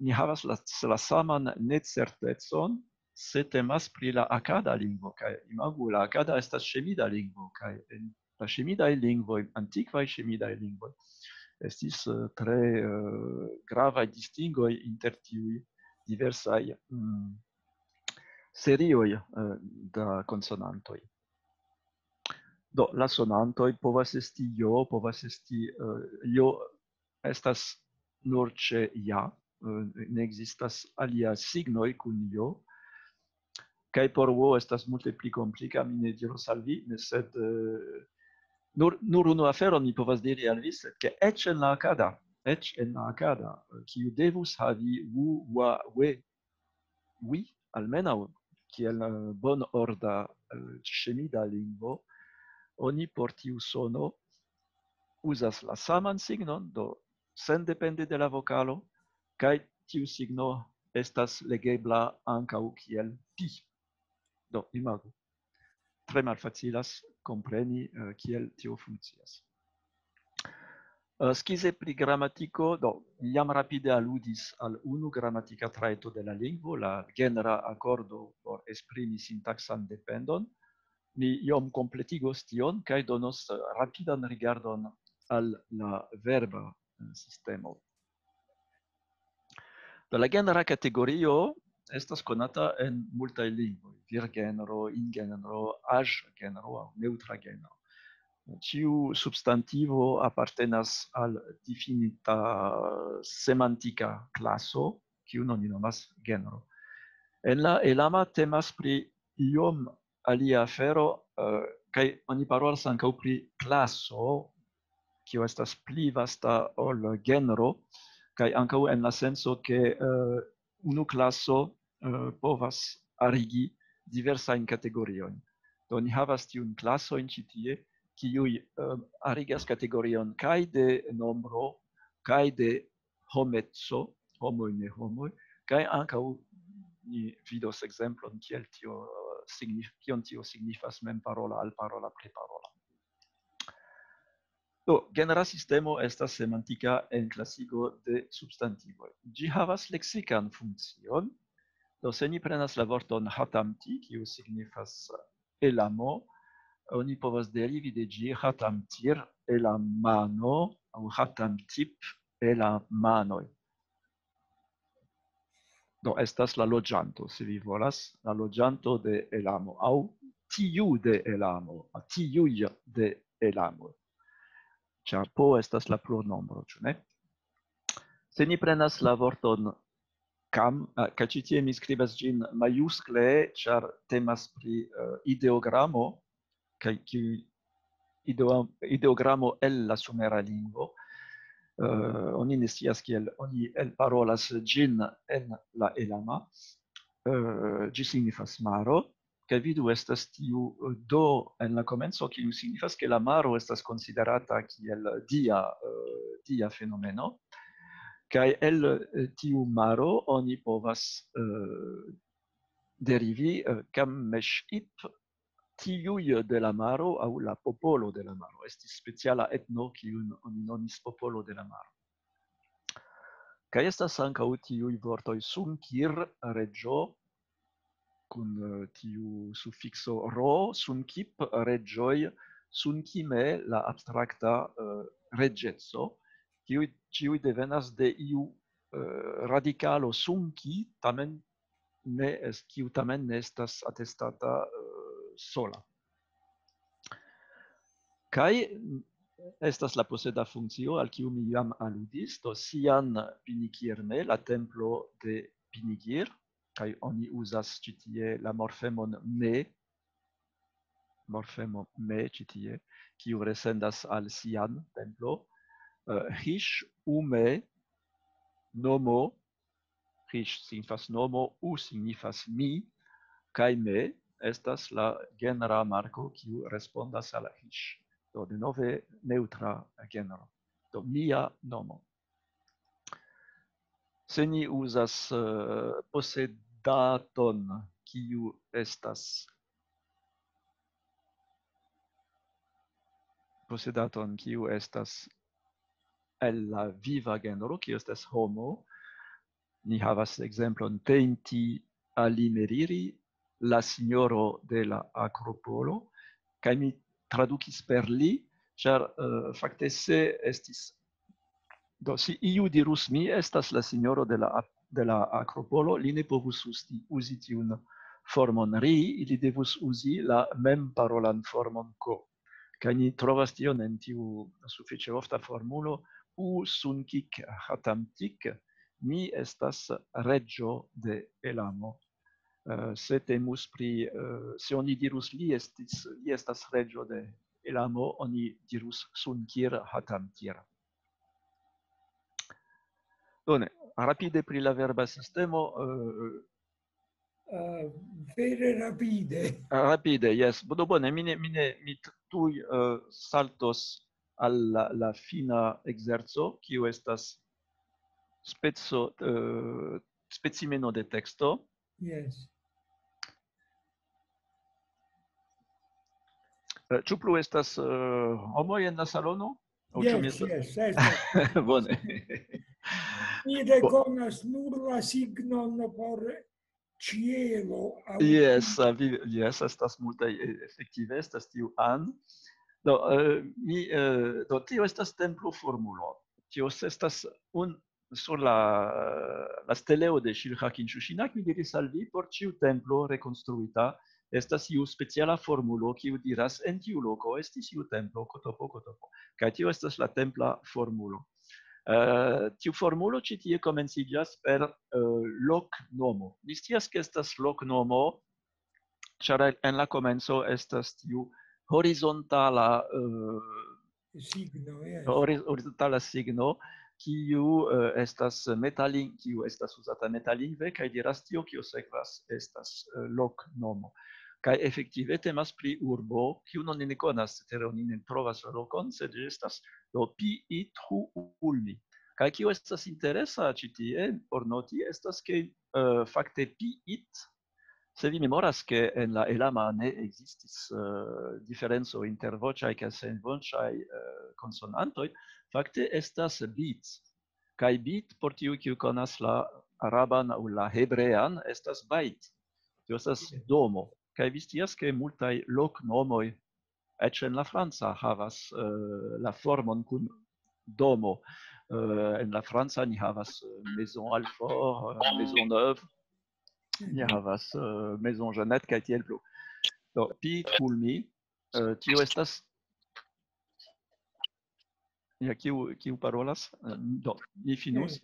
ni havas la, la saman necertecon, se temas pri la akada lingvo, kaj imagu, la akada estas ŝemida lingvo, kaj en la ŝemidaj lingvoj, antikvaj ŝemidaj lingvoj, estis, eh, tre, eh, gravaj distingoj inter tiuj diversaj, mm, serioj, eh, da konsonantoj. Do, la sonantoj povas esti jo, povas esti, eh, jo estas nur ĉe ja, eh, ne ekzistas alia signoj kun jo. Kaj por wo estas multe pli komplika, mi ne diros al vi, ne, sed, eh, nur, nur unu aferon mi povas diri al vi, sed ke eĉ en la akada, eĉ en la akada, eh, kiu devus havi u, wa, we, wi, almenaŭ kiel, eh, bonorda, eh, ŝemida lingvo, oni por tiu sono uzas la saman signon, do sendepende de la vokalo, kaj tiu signo estas legebla ankaŭ kiel pi. Do, imagu. Tre malfacilas kompreni, eh, kiel tio funkcias. Eh, skize pri gramatiko, do, mi jam rapide aludis al unu gramatika trajto de la lingvo, la genra akordo por esprimi sintaksan dependon. Mi iom kompletigos tion kaj donos, eh, rapidan rigardon al la verba, eh, sistemo. Do, la genra kategorio estas konata en multaj lingvoj: virgenro, ingenro, aĝgenro aŭ neŭtra genro. Ĉiu substantivo apartenas al difinita semantika klaso, kiun oni nomas genro. En la Elama temas pri iom alia afero, eh, kaj oni parolas ankaŭ pri klaso, kio estas pli vasta ol genro, kaj ankaŭ en la senso, ke, eh, unu klaso, eh, povas arigi diversajn kategoriojn. Do, ni havas tiun klasojn ĉi tie, kiuj, eh, arigas kategorion kaj de nombro, kaj de homeco, homoj, ne homoj, kaj ankaŭ ni vidos ekzemplon, kiel tio, eh, signif-, kion tio signifas memparola, alparola, priparola. Do, genera sistemo estas semantika enklasigo de substantivoj. Ĝi havas leksikan funkcion. Do, se ni prenas la vorton hatamti, kiu signifas elamo, oni povas derivi de ĝi hatamtir elamano aŭ hatamtip elamanoj. Do, estas la loĝanto, se vi volas, la loĝanto de Elamo, aŭ tiu de Elamo, aŭ tiuj de Elamo. Ĉar po estas la plurnombro, ĉu ne? Se ni prenas la vorton kam, eh, kaj ĉi tie mi skribas ĝin majuskle, ĉar temas pri, eh, ideogramo, kaj kiu ideo-, ideogramo el la sumera lingvo. Eh, oni ne scias kiel oni elparolas ĝin en la Elama. Eh, ĝi signifas maro, kaj vidu, estas tiu, eh, do en la komenco, kiu signifas, ke la maro estas konsiderata kiel dia, eh, dia fenomeno. Kaj el, eh, tiu maro oni povas, eh, derivi, eh, Kammesh-ip, tiuj de la maro aŭ la popolo de la maro. Estis speciala etno, kiun oni nomis popolo de la maro. Kaj estas ankaŭ tiuj vortoj sunkir, reĝo, kun, eh, tiu sufikso ro, sunkip, reĝoj, sunkime, la abstrakta, eh, reĝeco, kiuj ĉiuj devenas de iu, eh, radikalo sunki, tamen ne es-, kiu tamen ne estas atestata, eh, sola. Kaj estas la poseda funkcio, al kiu mi jam aludis, do Sian Pinikirne, la templo de Pinigir, kaj oni uzas ĉi tie la morfemon me, morfemo me ĉi tie, kiu resendas al Sian templo, eh, Hish Ume nomo, Hish signifas nomo, U signifas mi, kaj me estas la genera marko, kiu respondas al Hish. Do, denove neŭtra genro. Do, mia nomo. Se ni uzas, eh, posedaton, kiu estas, posedaton, kiu estas el la viva genro, kiu estas homo, ni havas ekzemplon Teinti Ali Meriri, la signoro de la Akropolo, kaj mi tradukis per li, ĉar, eh, fakte se estis, do, se iu dirus: "Mi estas la signoro de la ap-, de la Akropolo", li ne povus usti, uzi tiun formon ri, li devus uzi la memparolan formon ko. Kaj ni trovas tion en tiu sufiĉe ofta formulo: "U sunkik hatamtik", mi estas reĝo de Elamo. Eh, se temus pri, eh, se oni dirus, "Li estis, li estas reĝo de Elamo", oni dirus: "Sunkir hatamkir." Bone, rapide pri la verba sistemo, eh, Eh, vere rapide. Rapide, jes. Do bone, mi ne, mi ne, mi t-, tuj, eh, saltos al la, la fina ekzerco, kiu estas speco, eh, specimeno de teksto. Yes. Eh, ĉu plu estas, eh, homoj en la salono? Aŭ ĉu mi Yes, estas yes, estas. Bone. Mi rekonas nur la signon por ĉielo. aŭ- Jes, a vi, jes, estas multaj, eh, efektive estas tiu an. Do, eh, mi, eh, do, tio estas templo formulo. Tio estas un, sur la, la steleo de Shilha Kinshushina, mi diris al vi, por ĉiu templo rekonstruita estas iu speciala formulo, kiu diras: "En tiu loko estis iu templo, kotopo, kotopo." Kaj tio estas la templa formulo. Eh, tiu formulo ĉi tie komenciĝas per, eh, loknomo. Ni scias, ke estas loknomo, ĉar en la komenco estas tiu horizontala, eh, Signo, yes. hori-, horizontala signo, kiu, eh, estas metalin-, kiu estas uzata metalingve, kaj diras: "Tio, kio sekvas, estas, eh, loknomo." Kaj efektive temas pri urbo, kiun oni ne konas, cetere oni ne trovas la lokon, sed ĝi estas do Pi It Hu Ulmi. Kaj kio estas interesa ĉi tie por noti, estas ke, eh, fakte Pi It, se vi memoras, ke en la elama ne ekzistis, eh, diferenco inter voĉaj kaj senvoĉaj, eh, konsonantoj, fakte estas bit. Kaj bit, por tiuj, kiu konas la araban aŭ la hebrean, estas bait. Tio estas domo. Kaj vi scias, ke multaj loknomoj, eĉ en la franca, havas, eh, la formon kun domo. Eh, en la franca ni havas, eh, Maison Alfort, eh, Maison Neuve, ni havas, eh, Maison Jeannette, kaj tiel plu. Do, Pi It Hu Ulmi, eh, tio estas, ja, kiu, kiu parolas? Eh, do, ni finus.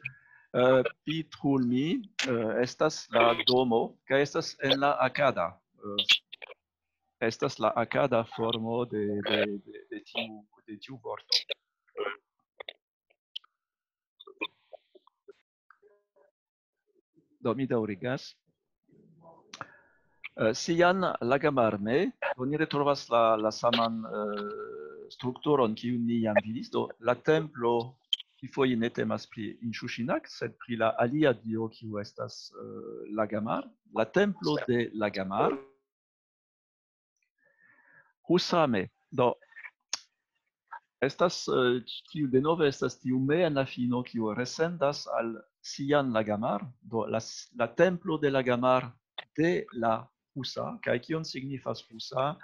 Eh, Pi It Hu Ulmi, eh, estas la domo, kaj estas en la akada. Eh, estas la akada formo de, de, de, de tiu, de tiu vorto. Do, mi daŭrigas. Eh, Sian Lagamar-me, oni retrovas la, la saman, eh, strukturon, kiun ni jam vidis. Do, la templo, kifoje ne temas pri Inshushinak, sed pri la alia dio, kiu estas, eh, Lagamar. La templo de Lagamar. Husa-me. Do, estas, eh, tiu, denove estas tiu me en la fino, kiu resendas al Sian Lagamar, do la s-, la templo de Lagamar de la Husa, kaj kion signifas Husa?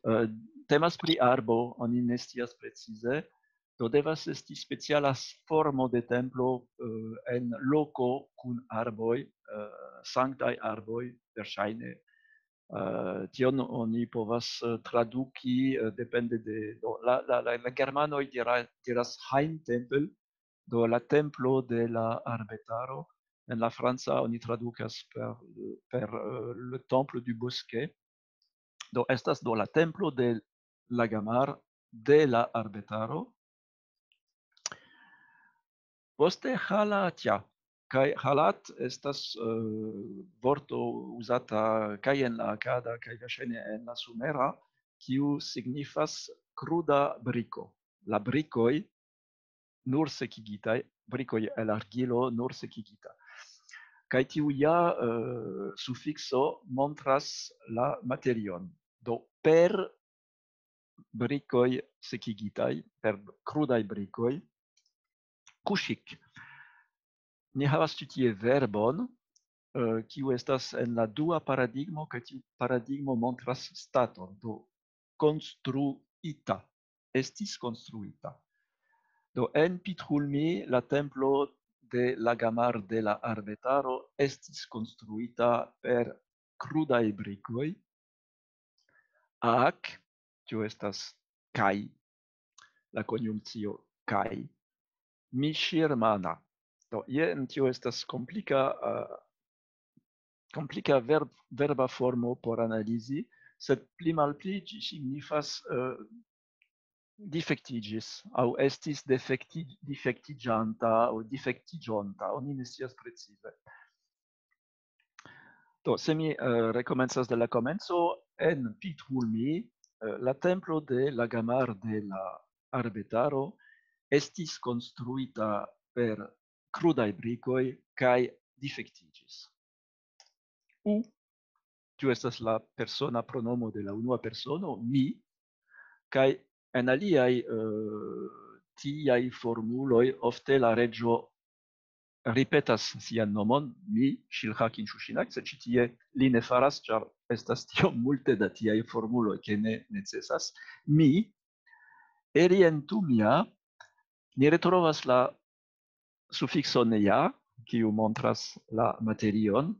Eh, temas pri arbo, oni ne scias precize, do devas esti speciala s-, formo de templo, eh, en loko kun arboj, eh, sanktaj arboj, verŝajne. Eh, tion oni povas, eh, traduki, eh, depende de, do, la, la, la, la germanoj dira-, diras Heimtempel, do la templo de la arbetaro. En la franca oni tradukas per, per, eh, le temple du bosquet. Do estas do la templo de Lagamar de la arbetaro. Poste Halatia. Kaj Halat estas, eh, vorto uzata kaj en la akada, kaj verŝajne en la sumera, kiu signifas kruda briko. La brikoj nur sekigitaj, brikoj el argilo nur sekigita. Kaj tiu ja, eh, sufikso montras la materion. Do per brikoj sekigitaj, per krudaj brikoj, kuŝik. Ni havas ĉi tie verbon, eh, kiu estas en la dua paradigmo, kaj tiu paradigmo montras staton, do konstruita, estis konstruita. Do en Pi It Hu Ulmi la templo de Lagamar de la arbetaro estis konstruita per krudaj brikoj, ak, tio estas kaj, la konjunkcio kaj, Mishirmana. Do, jen tio estas komplika, uh, komplika verb, verba formo por analizi, sed pli malpli ĝi signifas uh, difektiĝis aŭ estis defekti, difektiĝanta aŭ difektiĝonta, oni ne scias precize. Do, se mi uh, rekomencas de la komenco, en Pithulmi uh, la templo de la Gamar de la Arbetaro estis konstruita per krudaj brikoj kaj difektiĝis. U, tio estas la persona pronomo de la unua persono, mi, kaj en aliaj uh, tiaj formuloj ofte la reĝo ripetas sian nomon, mi, Ŝilhakin Ŝuŝinak, sed ĉi tie li ne faras, ĉar estas tiom multe da tiaj formuloj, ke ne necesas. Mi, Erientumia, ni retrovas la sufikson ja, kiu montras la materion,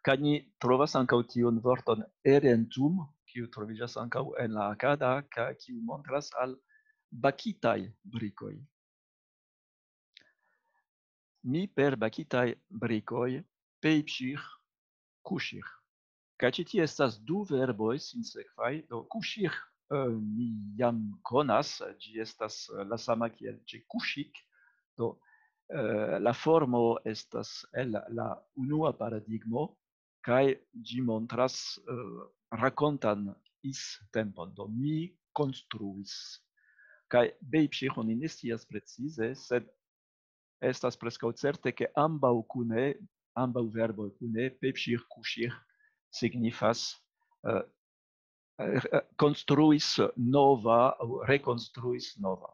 kaj ni trovas ankaŭ tiun vorton erentum, kiu troviĝas ankaŭ en la akada, kaj kiu montras al bakitaj brikoj. Mi per bakitaj brikoj pejpsih kuŝih. Kaj ĉi tie estas du verboj sinsekvaj. Do kuŝih eh, ni jam konas, ĝi estas eh, la sama kiel ĉe kuŝik. Do eh, la formo estas el la unua paradigmo, kaj ĝi montras eh, rakontan is tempon. Do mi konstruis. Kaj bejpsih oni ne scias precize, sed estas preskaŭ certe, ke ambaŭ kune, ambaŭ verboj kune, pepsih, kuŝih, signifas eh, eh, konstruis nova aŭ rekonstruis nova.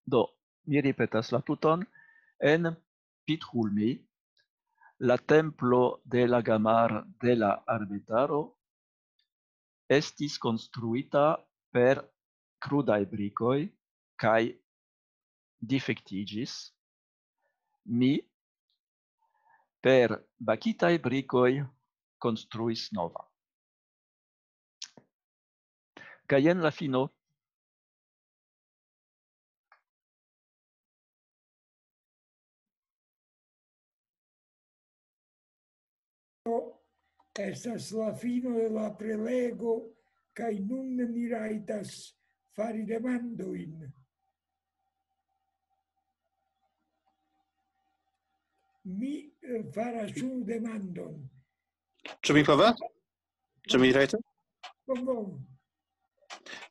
Do, mi ripetas la tuton, en Pithulmi, la templo de la Gamar de la Arbetaro estis konstruita per krudaj brikoj kaj difektiĝis. Mi per bakitaj brikoj konstruis nova. Kaj jen la fino. Estas la fino de la prelego, kaj nun ni rajtas fari demandojn. Mi eh, faras unu demandon. Ĉu mi povas? Ĉu mi rajtas? Bonvolu.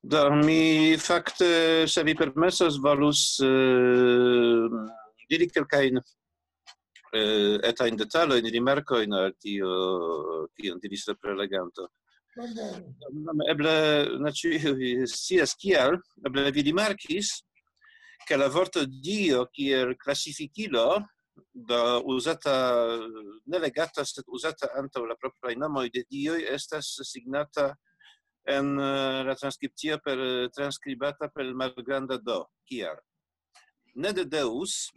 Do, mi fakte, se vi permesas, volus eh, diri kelkajn eh, etajn detalojn, rimarkojn al tio, kion diris la preleganto. Bonvolu. Eble ne ĉiuj scias kial, eble vi rimarkis, ke la vorto Dio kiel klasifikilo, do uzata, ne legata, sed uzata antaŭ la propraj nomoj de dioj, estas signata en eh, la transkripcio per, transkribata per malgranda do. Kial? Ne de Deus,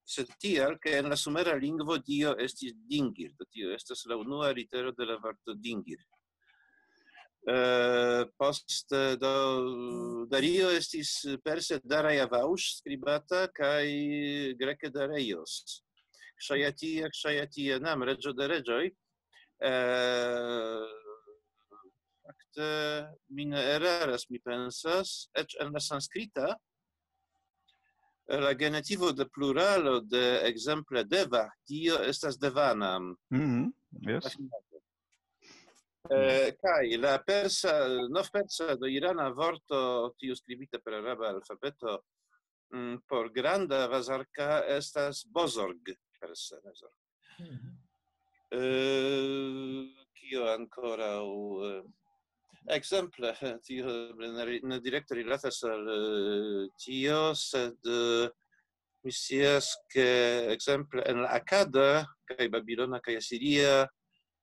sed tial, ke en la sumera lingvo Dio estis Dingir. Do tio estas la unua litero de la vorto Dingir. Eh, poste, do, Dario estis perse Darajavaŭs skribata kaj greke Dareios. Kshajatia, Kshajatia nam, reĝo de reĝoj. Eh, fakte, mi ne eraras, mi pensas, eĉ en la sanskrita, la genetivo de pluralo de ekzemple Deva, Dio estas Devanam. Mm -hmm. Yes. Eh, kaj la persa, novpersa do irana vorto, tiu skribita per araba alfabeto, mm, por granda vazarka estas bozorg, persa vazarka. Mm -hmm. eh, kio ankoraŭ? Eh, ekzemple, tio ne direkte rilatas al eh, tio, sed eh, mi scias, ke ekzemple en la akada kaj babilona kaj asiria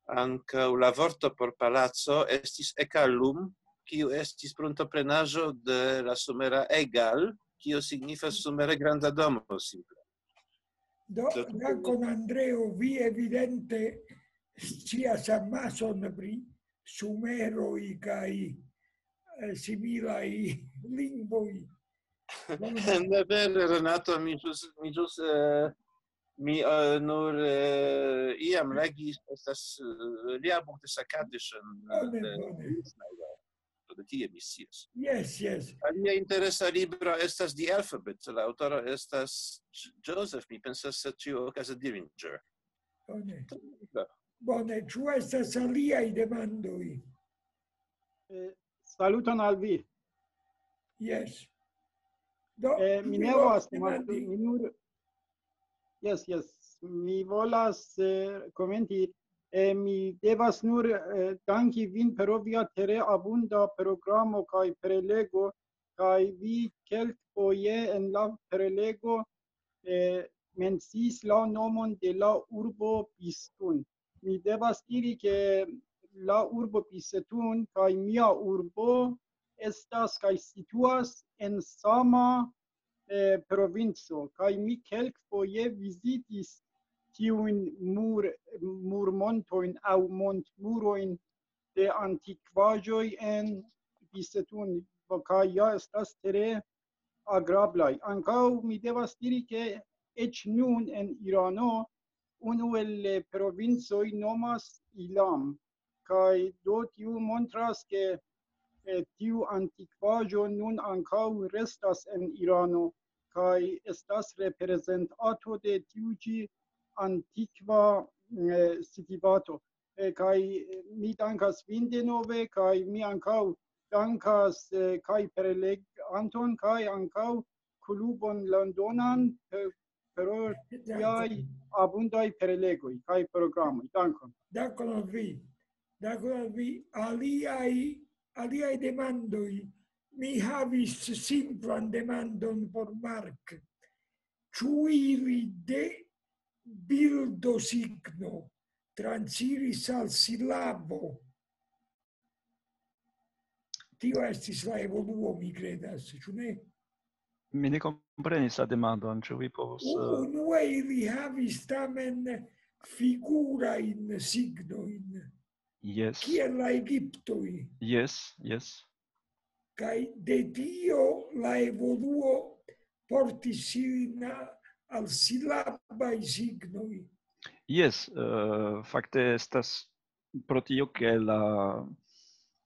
ankaŭ la vorto por palaco estis ekalum, kiu estis pruntoprenaĵo de la sumera egal, kio signifas sumere granda domo, simple. Do, dankon Andreo, vi evidente scias amason pri sumeroj kaj eh, similaj lingvoj. Ne vere, Renato, mi ĵus, mi ĵus, eh, mi, eh, nur, eh, iam legis, estas, eh, lia buko de Sakadis en, Bone, eh, bone. Ismail, do de tie mi scias. Yes, yes. Alia interesa libro estas The Alphabet, la aŭtoro estas J-, Joseph, mi pensas, se ĉiuokaze Dillinger. Bone. Bone, ĉu estas aliaj demandoj? Eh, saluton al vi. Yes. Do, Eh, mi vi ne volas volas, demandi? Mi nur, yes, yes. Mi volas, eh, komenti. Eh, mi devas nur, eh, danki vin pro via tre abunda programo kaj prelego, kaj vi kelkfoje en la prelego, eh, menciis la nomon de la urbo Pistun. Mi devas diri, ke la urbo Pistun kaj mia urbo estas kaj situas en sama, eh, provinco, kaj mi kelkfoje vizitis tiujn mur-, murmontojn aŭ montmurojn de antikvaĵoj en Pistun, kaj ja estas tre agrablaj. Ankaŭ mi devas diri, ke eĉ nun en Irano unu el, eh, provincoj nomas Ilam, kaj do tiu montras, ke, eh, tiu antikvaĵo nun ankaŭ restas en Irano, kaj estas reprezentanto de tiu ĉi antikva, eh, civitato. Eh, kaj, eh, mi dankas vin denove, kaj mi ankaŭ dankas, eh, kaj preleganton, kaj ankaŭ klubon londonan, eh, pro tiaj abundaj prelegoj kaj programoj. Dankon. Dankon al vi. Dankon al vi. Aliaj, aliaj demandoj. Mi havis simplan demandon por Mark. Ĉu ili de bildo signo transiris al silabo? Tio estis la evoluo, mi kredas, ĉu ne? Mi ne komprenis la demandon, ĉu vi povus, eh, Unue ili havis tamen figurajn signojn, Jes. Kiel la Egiptoj. Jes, jes. Kaj de tio la evoluo portis ilin a-, al silabaj signoj. Jes, eh, fakte estas pro tio, ke la,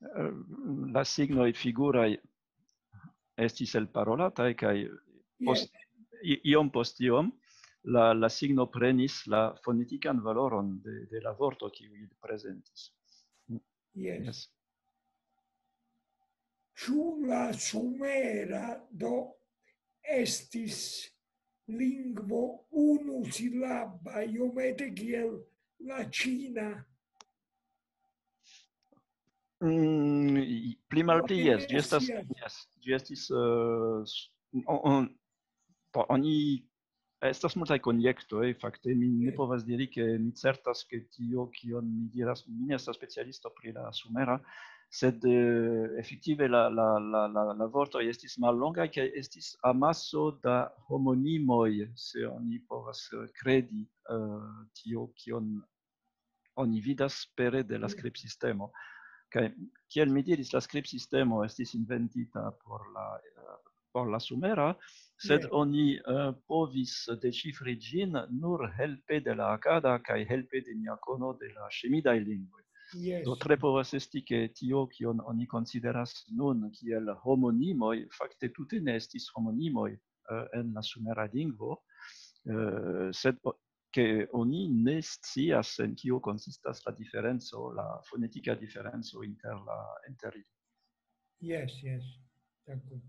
eh, la signoj figuraj estis elparolataj, kaj post, i-, iom post iom la, la signo prenis la fonetikan valoron de, de la vorto, kiu ili prezentis. Jes. Jes. Ĉu la sumera do estis lingvo unusilaba, iomete kiel la ĉina? Mm, i-, pli malpli, Mi jes, ne ĝi estas, scias. Jes, ĝi estis, eh, s-, o-, on-, do, oni, estas multaj konjektoj, fakte mi ne Jes. povas diri, ke mi certas, ke tio, kion mi diras, mi ne estas specialisto pri la sumera, sed, eh, efektive la, la, la, la, la vortoj estis mallongaj, kaj estis amaso da homonimoj, se oni povas, eh, kredi, eh, tio, kion oni vidas pere de la skribsistemo. Kaj kiel mi diris, la skribsistemo estis inventita por la, eh, por la sumera, sed Jes. Oni, eh, povis deŝifri ĝin nur helpe de la akada kaj helpe de nia kono de la semidaj lingvoj. Jes. Do tre povas esti, ke tio, kion oni konsideras nun kiel homonimoj, fakte tute ne estis homonimoj, eh, en la sumera lingvo, eh, sed o-, ke oni ne scias, en kio konsistas la diferenco, la fonetika diferenco inter la, inter ili. Jes, jes. Dankon.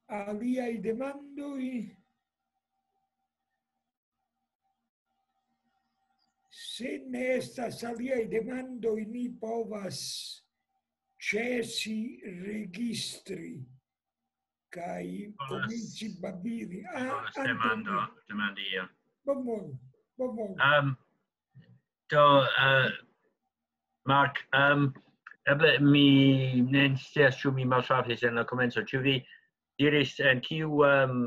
Aliaj demandoj? Se ne estas aliaj demandoj, ni povas ĉesi registri kaj komenci babili. Ah, Antonio. Demando, demandi io. Bonvolu, bonvolu. Um, do, uh, Mark, um, eble mi ne scias, ĉu mi maltrafis en la komenco. Ĉu vi diris en kiu, um,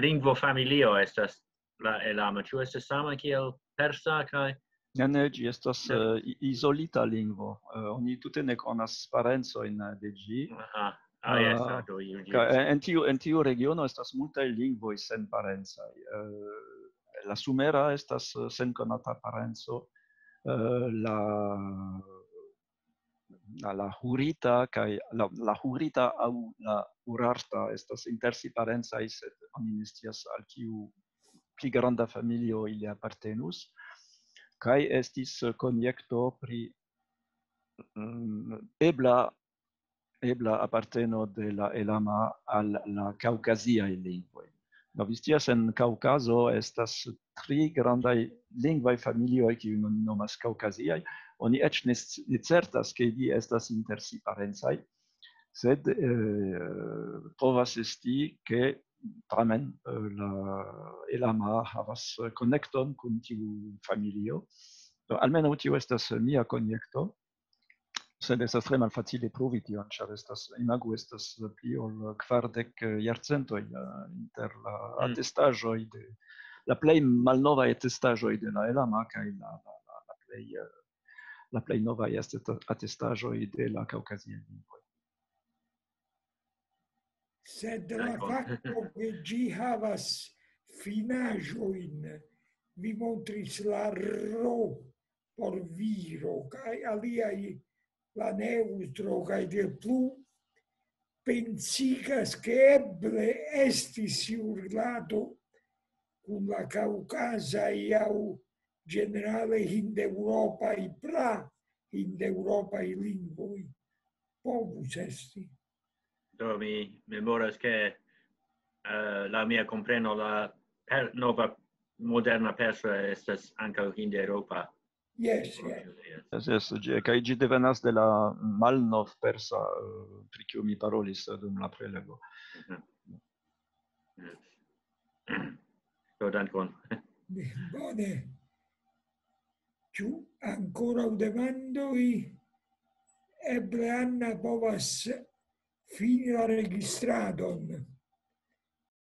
lingvo familio estas la Elama? Ĉu estas sama kiel persa kaj Ne, ne, ĝi estas eh, i- izolita lingvo. Eh, Oni tute ne konas parencojn de ĝi. Aha. Ah, yes, Ah, ah, do you Ka- En tiu, en tiu regiono estas multaj lingvoj senparencaj. Eh, La sumera estas eh, senkonata parenco. Eh, La, la, la hurita kaj la, la hurita aŭ la urarta estas inter si parencaj, sed oni ne scias al kiu pli granda familio ili apartenus. Kaj estis konjekto pri mm, ebla, ebla aparteno de la Elama al la kaŭkaziaj lingvoj. Do vi scias, en Kaŭkazo estas tri grandaj lingvaj familioj, kiujn oni nomas kaŭkaziaj. Oni eĉ ne sci- ne certas, ke ili estas inter si parencaj, sed eh, povas esti, ke tamen eh, la Elama havas konekton kun tiu familio. Do, almenaŭ tio estas mia konjekto, sed estas tre malfacile pruvi tion, ĉar estas, imagu, estas pli ol kvardek jarcentoj eh, inter la Mm. atestaĵoj de la plej malnovaj atestaĵoj de la Elama kaj la, la, la, la plej eh, la plej novaj atesta- atestaĵoj de la kaŭkaziaj lingvoj. Sed la Dankon. Fakto, ke ĝi havas finaĵojn, vi montris la ro por viro kaj aliaj, la neŭtro kaj de plu, pensigas, ke eble estis urlado kun la kaŭkazaj aŭ ĝenerale hindeŭropaj, pra hindeŭropaj lingvoj. Povus esti. Do mi memoras, ke eh, la mia kompreno, la per, nova moderna persa estas ankaŭ hindeŭropa. Jes, jes. Yes, yes, ĝi- kaj ĝi devenas de la malnov-persa, eh, pri kiu mi parolis eh, dum la prelego. Mhm. Yes. Do dankon. Bone. Ĉu ankoraŭ demandoj? Eble Anna povas fini la registradon.